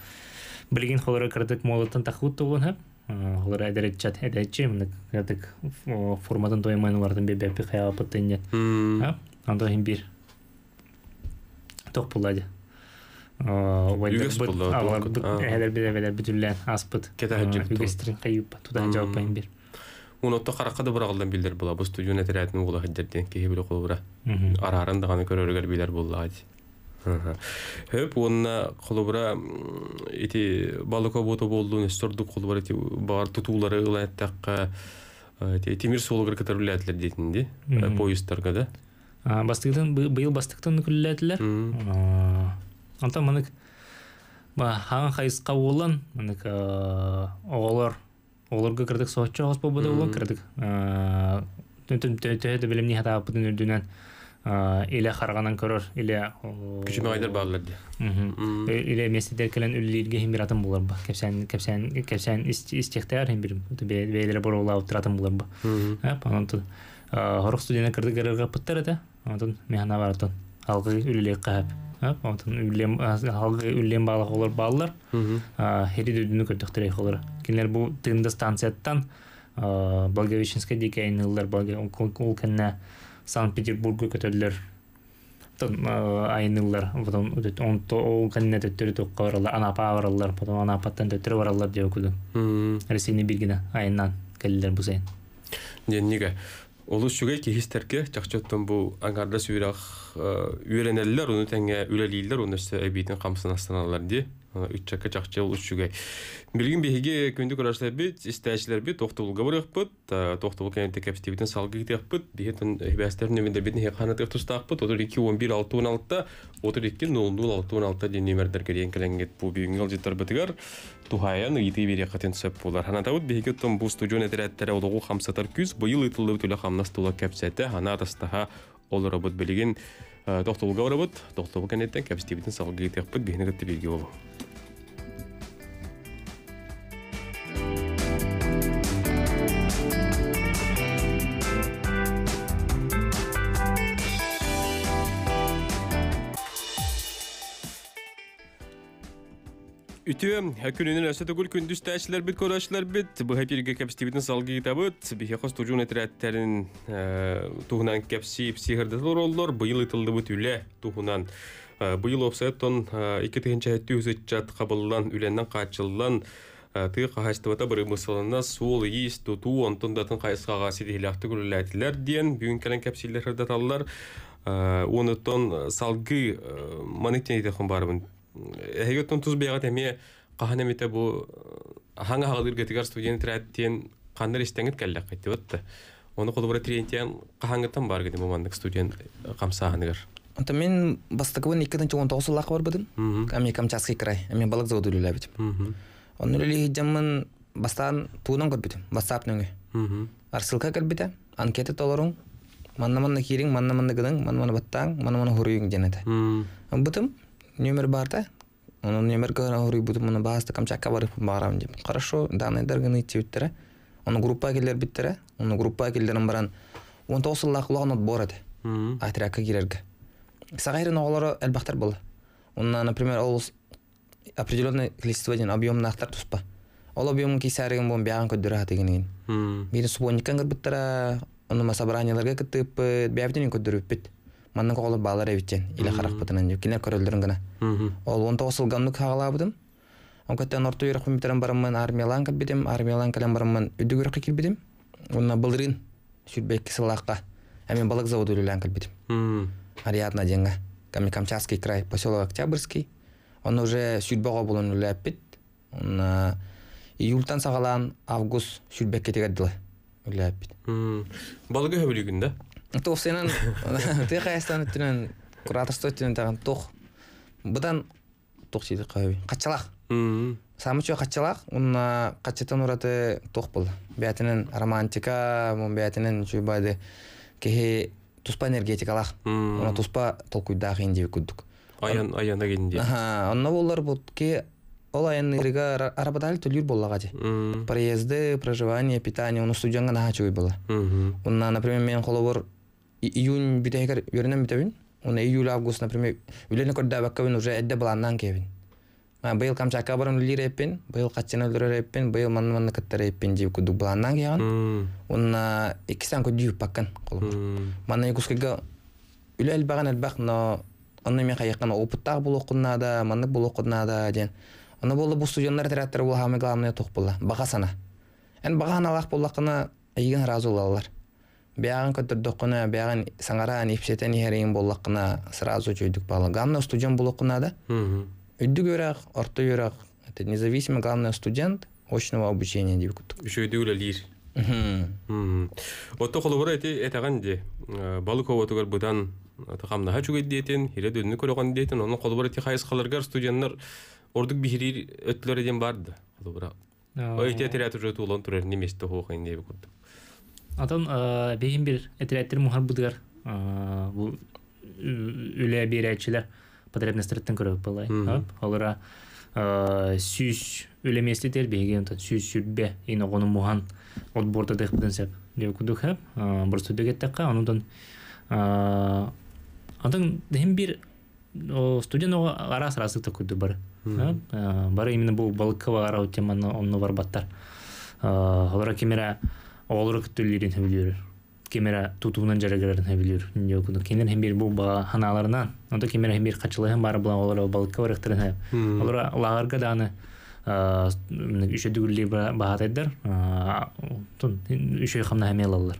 билген холора кырдык молоттан тахут болгон, холора эдерет чат эдечи мына кырдык формадан тоймайн олардын бебепи хаялапыт тенне. Анда хим бир ток булады. Үгес булды. Алар элер биле бүтүллән аспыт. Үгестерин кайып туда жавап бир. Унотто каракка да биралдан билдер була. Бу студион этерәтин угла хаҗҗардин кеһи биле кулбура. Арарын даганы көрөргөр билер булла. Хөп онна кулбура ити балык обото болду, несторду кулбура ити бар тутулары ылаттакка ити темир суолугар кытырылатлар дейтинди поезддарга да. Бастыктан быйыл бастыктан күлләтләр. Анта манык ба хан хайска болан манык оголор олорго кырдык сооччо хос болбоду болон кырдык. Түн төһөдө билимни хата апытын үрдүнөн Иле харганан көрөр, иле Күчүмө айдар баалар ди. Иле местедер келен үллирге хим бир атын булар ба. Кепсен кепсен кепсен истехтер хим бир бейлере борола утратын булар ба. Анан хорох студент кырды көрөргө пыттар эте. Онтон механа бар отон. Алгы үлле кап. Онтон үллем алгы үллем баалык олар баалар. Хери дүдүнү көрдөктөр холор. Кинлер бу тында станцияттан Благовещенская дикая айнылар ол кенне Санкт-Петербургу көтөллөр айнылар потом онто ол кенне төттөрү токка баралар Анапа баралар потом Анапаттан төттөрү баралар деп окуду. Россияны биргине айынан келдилер бу сайын. Денниге Олус шүгэй киһистерге чахчоттон бу аңарда сүйрах үйренеллер, уну теңге үлелийлер, уну өстө эбитин камсын астаналар ди. Үтчакка чахчы олус шүгэй. Билгин биһиги күндү көрөшлөр бит, истәчилер бит, тохтобулга барыхпыт, тохтобул кенете кепстибитин салгы китехпыт, биһитин хибәстер нөмендер битин хехана тустаахпыт, отур iki он бир алты он алты, отур iki нол нол алты он алты ден нөмердер керен келенгет бу бүгүнгү алжыттар бытыгар, тухаян ыйты бири катын сөп болар. Ханатабыт биһиги том бу студион этерәттере олугу хамсатар күз, быйыл ытылды түлө хамнас тула кепсете, хана тастаха олоробут билигин тохтобулга барабыт, тохтобул кенеттен кепстибитин салгы китехпыт, биһини кытты билги болу. Үтө күнүнүн өсө түгүл күндүз тәчилер бит көрөчүлөр бит быха бирге кепстибитин салгы табыт бихе хостужун этереттерин туһунан кепси психырдылар оллор быйыл ытылдыбыт үле туһунан быйыл опсайттон эки тыгынча түзүт кабыллан үленнен качыллан тыы кахачтыбата быры мысалына суол ийис тутуу онтон датын кайсыгага сидихилякты күлүләтилер диен бүгүн келен кепсилер хырдаталлар онуттон салгы маныктен итехон барыбын Эгеттон туз бега теме кахана мете бу ханга хагылыр гетигар студент траттен кандар истеңит келлек кайтты бытты. Оны колубара трентен кахангытан бар геди мамандык студент камсаһаныгар. Онто мен бастакыбын эки миң он тогуз жыллаах бар быдым. Ами Камчатский край, ами балык заводу үлеләбит. Оны үлели жаммын бастан туунан көрбүтүм, WhatsApp нөңү. Арсылка кэлбите, анкета толоруң, манна-манна кириң, манна-манна гының, манна-манна баттаң, манна-манна хуруйуң денете. Бытым номер барда, onun номер гына хуруй бутум, оны баасты Камчатка барып барам деп. Хорошо, данные даргыны тибиттере. Оны группа келер биттере, оны группа келдерин баран он тогуз жыллаах улахан отбор эте. Отрядка кирерге. Сагайрын оголоро элбахтар болду. Онна, например, ол определенное количество ден объемнахтар туспа. Ол объемын кисәреген бон бяган көддөрө хатыгынын. Бири субонникан кырбыттара, оны ма собранияларга кытып, бябден көддөрүп Маннан оголор баалар эбитчен, иле харакпытынан жок, кинер көрөлдөрүн гына. Ол он тогуз жылганлык хагалабыдым. Он көттөн орто үйрөк биттерен бараммын, армиялан кэлбитим, армиялан кэлен бараммын, үдүг үйрөккө кирбитим. Онна былырын сүрбекки сылаакка, эми балык заводу үлелән кэлбитим. Ариадна деньга. Камчатский край, поселок Октябрьский. Он уже сүрбөгө болон үләппит. Он июльтан сагалаан август сүрбекке тегердиле үләппит. Балыгы хөбүлүгүн да? Тух сенен ты кайстан түнен кураторство түнен тагын тух. Будан тух чиди кайби. Качалак. Самы чо качалак, унна качатан ураты тух был. Бәтинен романтика, мун бәтинен чуйбайды кеһи туспа энергетикалах. Уна туспа толкуйдах инди күдүк. Аян аяна кенди. Аха, онна болар бут ки ол аян ирига арабадал төлүр боллага же. Проезды, проживание, питание, уну студионга наха чуй была. Унна, например, мен холобор июнь бүтәгер йөренәм бүтәбин. Уна июль, август, например, үлене көрдә баккабин уже эдде буланнан кебин. Ма быйыл Камчатка барам үлер эппин, быйыл качына үлер эппин, быйыл манны-манны кыттар эппин дип күдүк буланнан кеган. Унна икистан көдү паккан холобор. Манна Якутскайга үле элбаган элбак, но онны мен кайыккан опыттаг булокунна да, маннык булокунна да ден. Оны болду бу студенттар театр бул хамы главное тох була. Бага сана. Эн бага аналак буллакына ыйгын разы булалар. Бягын көтөрдөккүнө, бягын саңара ипсетен ихерин буллакына сразу чөйдүк бала. Главное студент булокуна да. Үдүк өрөк, орто өрөк. Это независимый главное студент очного обучения деп күттүк. Үчөйдү үлелир. Отто холобура эти этаган де балык оботугар будан тахамнаха чугайдиэтин, хире дүннү көрөгөн диэтин, онун холобура эти хайысқаларгар студенттар ордук бихирир өттүлөр эден барды. Холобура. Ой, те театр уже тулон турар неместе хоохайн деп күттүк. Атон бейин бир этереттер мухар будыгар Бу үлэ биэрээччилэр потребностарыттан көрөбүт буоллай. Олора сүүс үлэ миэстэтигэр биһиги онтон сүүс сүүрбэ ин оҕону муһан отбордадыахпытын сөп. Диэбит курдук хэп. Боростуйдук эттэххэ, онутан онтон иһин биир студент оҕо араас араастык курдук бары. Бары именно бу балыкка баҕара теманы онно барбаттар. Олора ким эрэ оҕолору кытта үлэлиирин сөбүлүүр. Ким эрэ тутуунан дьарыгырарын сөбүлүүр. Кинилэр иһин биир бу баҕа ханааларынан, онто ким эрэ иһин биир хачылыһын баар булан олоро балыкка барыахтарын сөп. Олора лааҕырга даҕаны үчүгэй үлэлиир баһаатайдар үчүгэй хамнаһы эмиэ ылаллар.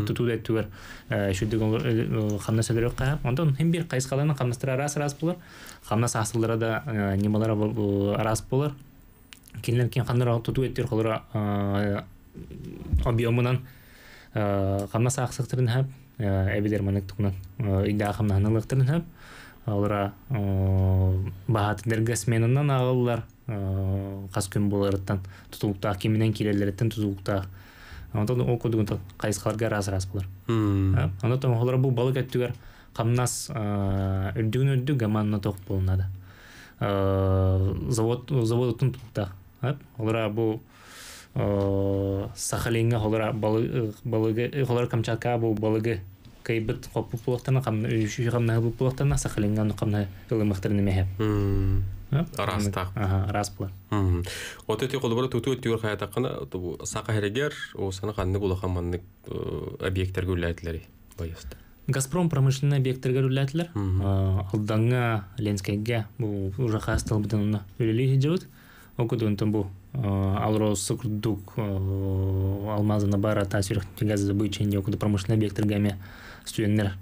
Тутуу да өттүгэр үчүгэй хамнас өлөрүөххэ. Онтон иһин биир хайысхаларынан хамнастара араас араас буолар. Хамнас аасыллара да ньымалара араас буолар. Кинилэр ким ханнара тутуу өттүгэр холоро объемунан хамнас аахсыахтарын сөп, эбэтэр маннык тугунан ыйдаах хамнаһын ылыахтарын сөп. Олора баһаатайдарга сменанан ааҕыллар, хас күн буоларыттан тутулуктаах, киминэн киирэллэриттэн тутулуктаах. Онтон ол курдук хайысхаларга араас араас буолар. Онтон олора бу балык өттүгэр хамнас үрдүгүн үрдүк гаманна тоқ буолунада. Завод заводуттан тутулуктаах. Олора бу Сахалинга холора балыгы холора Камчатка бу балыгы кыйбыт хоппут буолуохтана үчүгэй хамнаһы булбут буолуохтана Сахалинга ону хамнаһы ылымыахтарын эмэһэ. Араастаах. Араас буолар. От эти холобура тутуу өттүгэр хайатаххына саха сиригэр уосана ханнык улахан маннык объектарга үлэлээтилэри байыста. Газпром промышленный объектарга үлэлээтилэр. Алдаҥҥа, Ленскэйгэ бу уже хаас тылбытын онно үлэлии сылдьабыт. Ол курдук бу Алроса курдук алмазына бара таас үрэх газодобыча курдук промышленный объектарга эмиэ студенттэр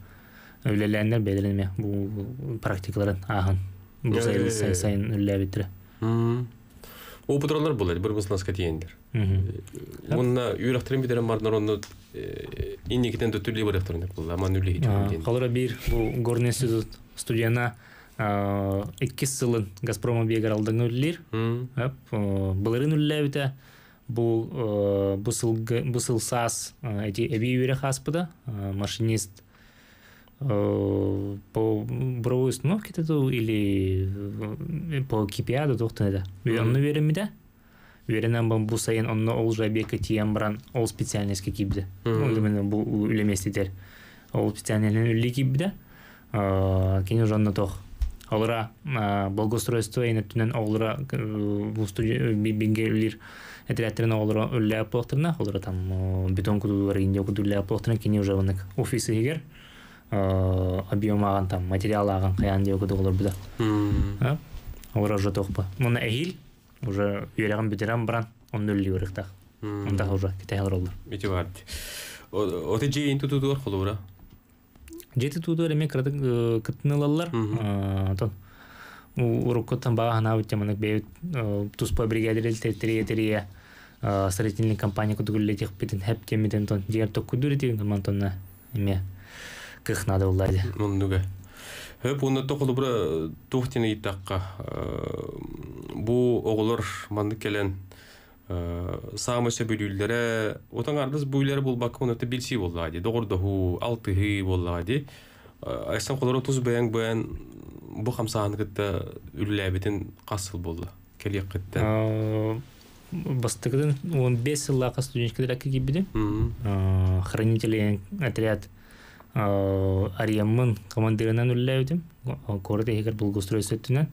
үлэлээннэр бэйэлэрин эмиэ бу практикаларын ааһан бу сайын сайын үлэлээбиттэрэ. Опыт булар бір мысласка тиендер. Онна үөрөхтерин битерен барнар онну инникитен төттүлли барыахтарын булла аман үлли хичүн. Холоро биир бу горный институт студена иккис сылын Газпром объегар Алдаҥҥа үлэлиир. Былырыын үлэлээбитэ бу бу сылгы бу сыл саас эти эбии үөрэх ааспыта машинист по буровой установке или по КПА туохтан этэ. Онно үөрэммитэ. Үөрэнэн бу сайын онно ол же объекка тиийэн баран ол специальностька киирбитэ. Именно бу үлэ миэстэтигэр. Ол специальностьнан үлэлии киирбитэ. Кини уже онно туох Олора благоустройство өттүнэн оҕолоро бу бинге үлэлиир этэрээттэрин оҕолоро үлэлээбит буолуохтарына, олора там бетон кутуулар индия кутуулар буолуохтарына, кини уже оннук офис иһигэр объем ааҕан там материал ааҕан хайаан диэ курдук олорбута. Олора уже туохпа. Муна эһиил уже үөрэҕин бүтэрэн баран онно үлэлии барыахтаах. Онтах уже кэтэһэ олороллор. Ити баар. Оте дьиэ тутуутугар холобура? Дьиэ тутуутугар эмиэ кыратык кыттыны ылаллар. Онтон уруккуттан баҕа санаабыт маннык бэйэбит туспа бригадир тэрийэ тэрийэ строительный компания курдук үлэлэтиэхпитин сөп диэммитин онтон дьиҥэр токкуйдуур этибит онтон эмиэ кых наада буолла дии. Оннуга. Хөп уонна холобура туох диэн ыйыттахха бу оҕолор маннык кэлэн саамай сөбүлүүллэрэ отон ардыс бу үлэлэрэ буолбакка онно билсии буоллаҕа дии доҕордоһуу алтыһыы буоллаҕа дии Айсан холоро тус бэйэҥ бэйэн бу хамсааһыны кытта үлэлээбитин хас сыл буолла кэлиэххиттэн Бастакытын он биэс сыллаахха студенческий отрядка киирбитим. Хранители отряд арыйаммын командирынан үлэлээбитим. Куорат иһигэр благоустройство өттүнэн.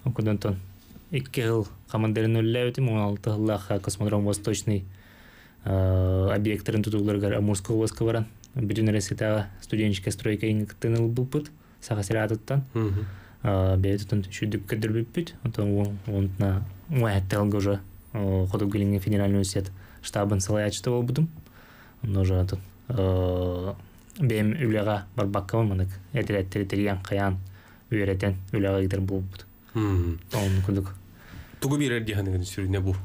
Онтон икки сыл командирынан үлэлээбитим. Он алты сыллаахха космодром Восточный объекттарын тутууларыгар Амурскай областка баран бүтүн Россиятааҕы студенческая стройка кыттыыны ылбыппыт Саха сирэ аатыттан. Бэйэбит үчүгэйдик көрдөрбүппүт. Онтон онтуна уон сылга уже Хотугу Илиҥҥи федеральный университет штабын салайааччыта буолбутум. Онно уже онтон бэйэм үлэҕэ барбаккабын маннык этэрээттери тэрийэн хайаан үөрэтэн үлэҕэ ыытар буолбут. Оннук курдук. Тугу биэрэр дии саныыгын сүрүнэ бу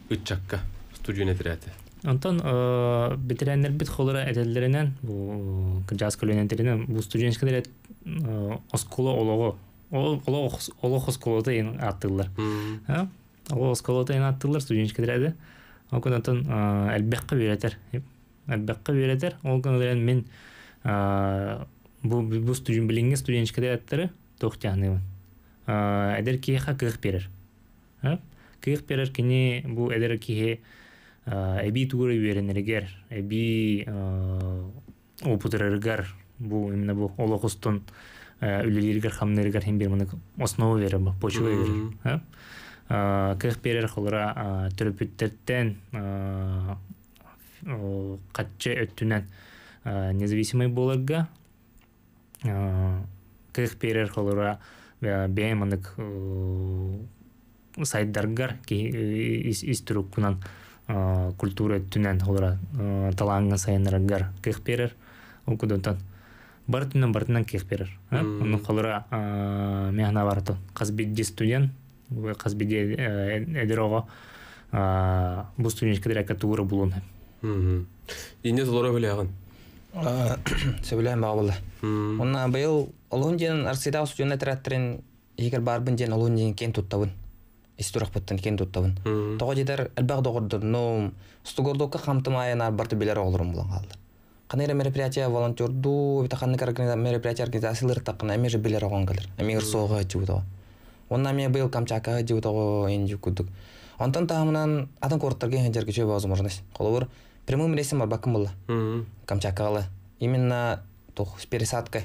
ыччакка студент этэрээтэ? Онтон бэтэрээннэрбит холоро этэллэринэн бу кырдьаҕас көлүөнэлэринэн бу студенческий отряд оскуола олоҕо олох олох оскуолата диэн ааттыыллар. Олох оскуолата диэн ааттыыллар студенческий отряды. Ол онтон элбэххэ үөрэтэр. Элбэххэ үөрэтэр. Ол гынан мин Бу бу студент билиңге студенческий отрядтары туох тяхныбын. Эдэр киһиэхэ кыах биэрэр. Кыах биэрэр кини бу эдэр киһи эбии тугура үөрэнэригэр, эбии опытырарыгар, бу именно бу олох устун үлэлииригэр хамныырыгар хин бир маны основа берер, почва берер. Кыах биэрэр холура төрөпүттерден катчы өттүнэн независимый буоларга, кыах биэрэр холура бэйэ манык сайдаргар ис туруккунан культура өттүнэн холура талааҥҥа сайыннараргар кыах биэрэр. Ол кудунтан бар түнэн бартынан кыах биэрэр. Онну холура мехна барты хас бидди студент, хас бидди эдэр оҕо бу студенческий отрядка тугура булун. Инне толоро билэҕин. Сөбүлээн баҕа буолла. Онна быйыл олуһун диэн Арсыйдаах студент отрядтарын иһигэр баарбын диэн олуһун диэн киэн туттабын. Ис турахпыттан киэн туттабын. Тоҕо диэтэр элбэх доҕордорнум, стугордокка хамтымайанаар барты билэр оҕолорум булан хааллар. Ханна эрэ мероприятие волонтердуу, эбэтэр ханнык мероприятие организациялар таххына эмиэ же билэр оҕоҥ кэлэр. Эмиэ ырсуоҕа сылдьыбыт оҕо. Онно эмиэ быйыл Камчаткаҕа сылдьыбыт оҕо инди курдук. Онтон таһымынан атын куораттарга сылдьарга үчүгэй возможность. Холобур, прямым рейсом барбаккын буолла. Камчаткаҕа именно туох с пересадкой.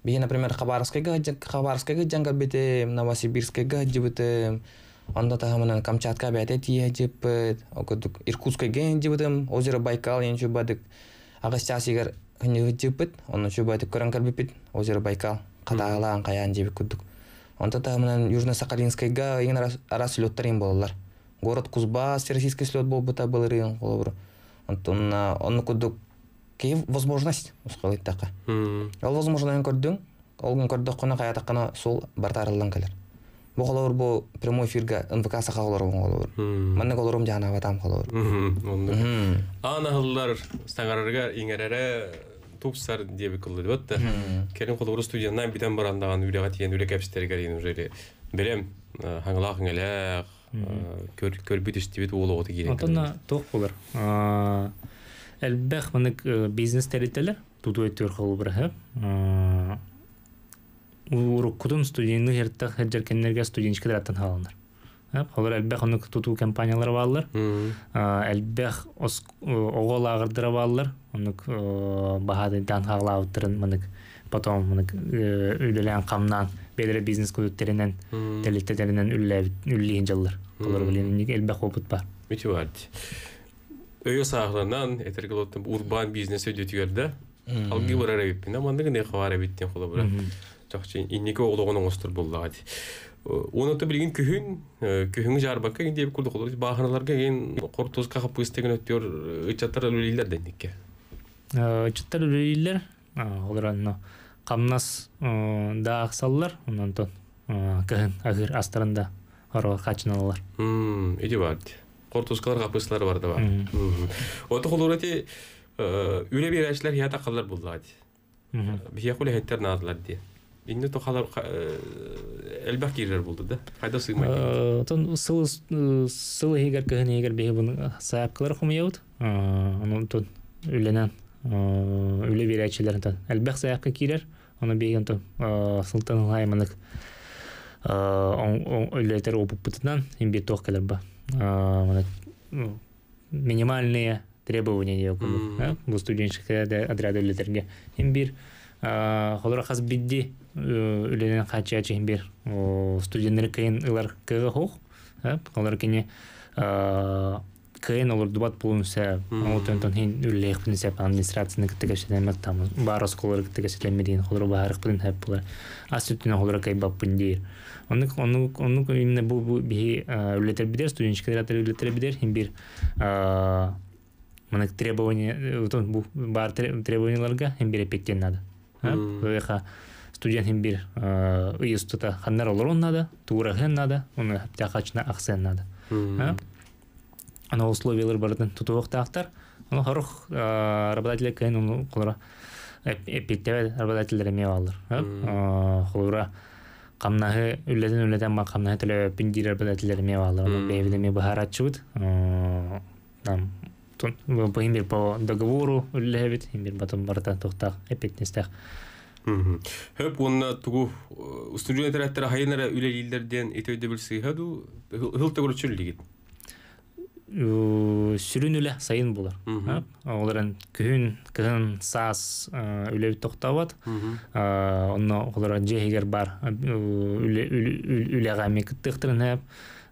Биһи, например, Хабаровскайга Хабаровскайга сылдьан кэлбитим, Новосибирскайга сылдьыбытым, онно таһымынан Камчатка бэйэтэ тиийэ сылдьыппыт, ол курдук Иркутскайга сылдьыбытым, озеро Байкал диэн чубадык аҕыс чаас иһигэр сылдьыппыт, онно чубадык көрөн кэлбиппит, озеро Байкал, хатаалаан хайаан диэбит курдук. Онто таһымынан Южно-Сахалинскайга иҥин араас, араас слеттар иҥин буолаллар. Город Кузбасс всероссийский слет буолбута былырыын холобур. Онтон онну курдук киһи возможность усхалыттака. Ол возможность көрдүҥ, ол күн көрдөххүнэ хайатаххына суол барыта арыллан кэлэр. Бу холобур бу прямой эфирга Н В К саха олорум холобур. Маннык олорум жаанабатам холобур. Аан аһыллар саҥарарга иҥэрэрэ тупсар диэби кыллы да. Кэлин холобур студеннан бүтэн барандаҕан үлэҕэ тиийэн үлэ кэпсэтэригэр иин уже бэлэм хаҥалаах иҥэлээх көрбүт истибит уол оҕото киирэн. Онтон туох буолар? Элбэх манык бизнес тэрилтэлэр тутуу өттүгэр холобура уруккутун студенны хертах хеджер кеннерге студенческий аттан хааланар. Холор элбэх онук тутуу компаниялар бааллар. Элбэх оҕо лааҕырдара бааллар. Онук баһаадайдаан хаалаабыттарын манык потом манык үлэлээн хамнаан бэйэлэрэ бизнес кудуттеринен тэрилтэлэринэн үллиин дьаллар. Холор билин элбэх опыт бар. Мүтү Өйө саахланан этергелоттан урбан бизнес өйдөтүгэрдэ. Алгы барар эбиппин. Амандыгы не хавар эбиттен холобура. Чахчы инники оҕолоҕун оҥостор буллаҕа. Оны билигин күһүн, күһүҥ жарбакка ген диэбит курдук холобур бааханаларга ген хортуска хаппыыстеген өттүөр ычаттар үлэлииллэр денникке. Ычаттар үлэлииллэр, олор камнас да ахсаллар, онон кыһын агыр астарында оро хачыналар. Иди бар. Хортускалар хаппыысталар бар да бар. Ото холобур эти үлэ биэрээчилэр хията халлар буллаҕа. Биһиэ хеттер наадылар дии. Инне тохалар элбэх киирер булду да. Хайда сыймай. Отон сыл сыл иһигэр кыһын иһигэр биһи буну саапкалар хомуйабыт. Онон тон үлэнэн үлэ биэрээчилэр элбэх саапка киирер. Оны биһи онтон сылтан ылай үлэтер опыппытынан имбир туох келер ба. Минимальные требования бу студенческий отряд үлетерге. Имбир холора хас бидди үленен хачачы имбир студенттер кыйын ылар кыгы хух. Холор кини кыйын олор дубат булун сә отон хин үллех бин сәп администрацияны кытыгы там бар осколор кытыгы седемедин холор баарык бин хэп булар. Ас үтүнө холор кай баппын дейр. Оны оны оны именно бу бихи үлетер бидер студенческий отряд үлетер бидер имбир манык требования бу бар требованияларга имбир эпеттен надо. Ыха студент имбир ыйыстыта ханнар олорон надо, туурахын надо, оны тахачна аксен надо. Ана условиялар бардын тутуохтаахтар. Оны хорух работодатель кыйын оны холора эппиттебе работодательдер эме алыр. Холора камнаһы үллетен үллетен ма камнаһы төлөбөппүн диир работодательдер эме алыр. Оны бэйбит эме быһааратчыбыт. Там Бу по договору үллэбит, имбир батым барта тохтах эппиэтинэстээх. Хөп уонна тугу устудьуон этэрээттэрэ хайын эрэ үлэлииллэр диэн ити өйдөбүл сыыһа дуу, һыл төгүрүччү үлэлиигит? Сүрүн үлэ сайын булар. Олорон күһүн, кыһын, саас үлэбит тохтообот. Онно олорон дьиэһигэр бар үлэҕэ эмиэ кыттыахтарын сөп.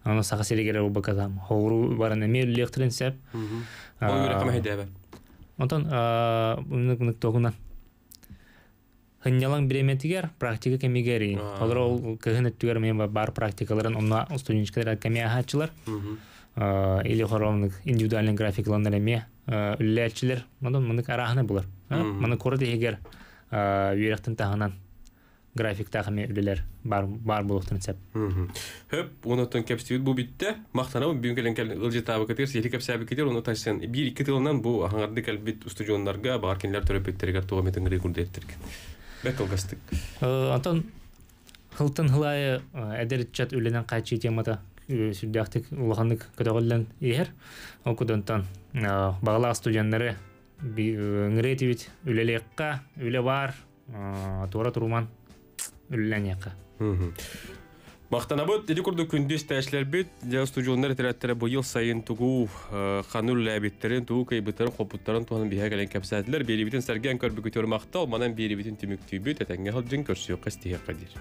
Аны Саха сиригэр буолбакка хоҕуруу баран эмиэ үлэлиэхтэрин сөп. Ол үөрэххэ мэһэйдээбэт. Онтон ынык тугунан Хынньалаҥ бириэмэтигэр практика кэмигэр олор ол кыһын өттүгэр эмиэ бар практикаларын онно студенческай кэми аһааччылар. Или хоромнык индивидуальный графикланнар эмиэ үллээччилэр. Онон мынык арааһына булар. Маны куорат иһигэр үөрэхтин таһынан графиктаах эмиэ үлэлэр бар бар буолуохтарын сөп. Хөп, онотон кэпсибит бу бүттэ. Махтанабын бүгүн кэлэн кэл ылдьытаабыкытыгар, сиһили кэпсээбиккитигэр, ону тайсан биир икки тылынан бу аһаҥарды кэлбит устудьуоннарга, баҕар кинилэр төрөппүттэригэр туох эмит ыҥырыы курдук. Бэрт кылгастык. Онтон хылтын хылайы эдэр ыччат үлэнэн хааччыы темата сүрдээхтик улаханнык көтөҕүллэн иһэр. Ол кудонтон бағалаах студенттары ыҥырыы үлэлиэххэ, үлэ бар, туора туруман үлэлэниэххэ. Махтанабыт, ити курдук күндү истээччилэрбит, дьэ устудьуоннар этэрээттэрэ быйыл сайын тугу ханна үлэлээбиттэрин, тугу кыайбыттарын, хоппуттарын туһунан биһиэхэ кэлэн кэпсээтилэр. Биэрибитин сэргээн көрбүкүтүгэр махтал, манан биэрибитин түмүктүүбүт, этэҥҥэ сылдьыҥ, көрсүөххэ, истиһиэххэ диир.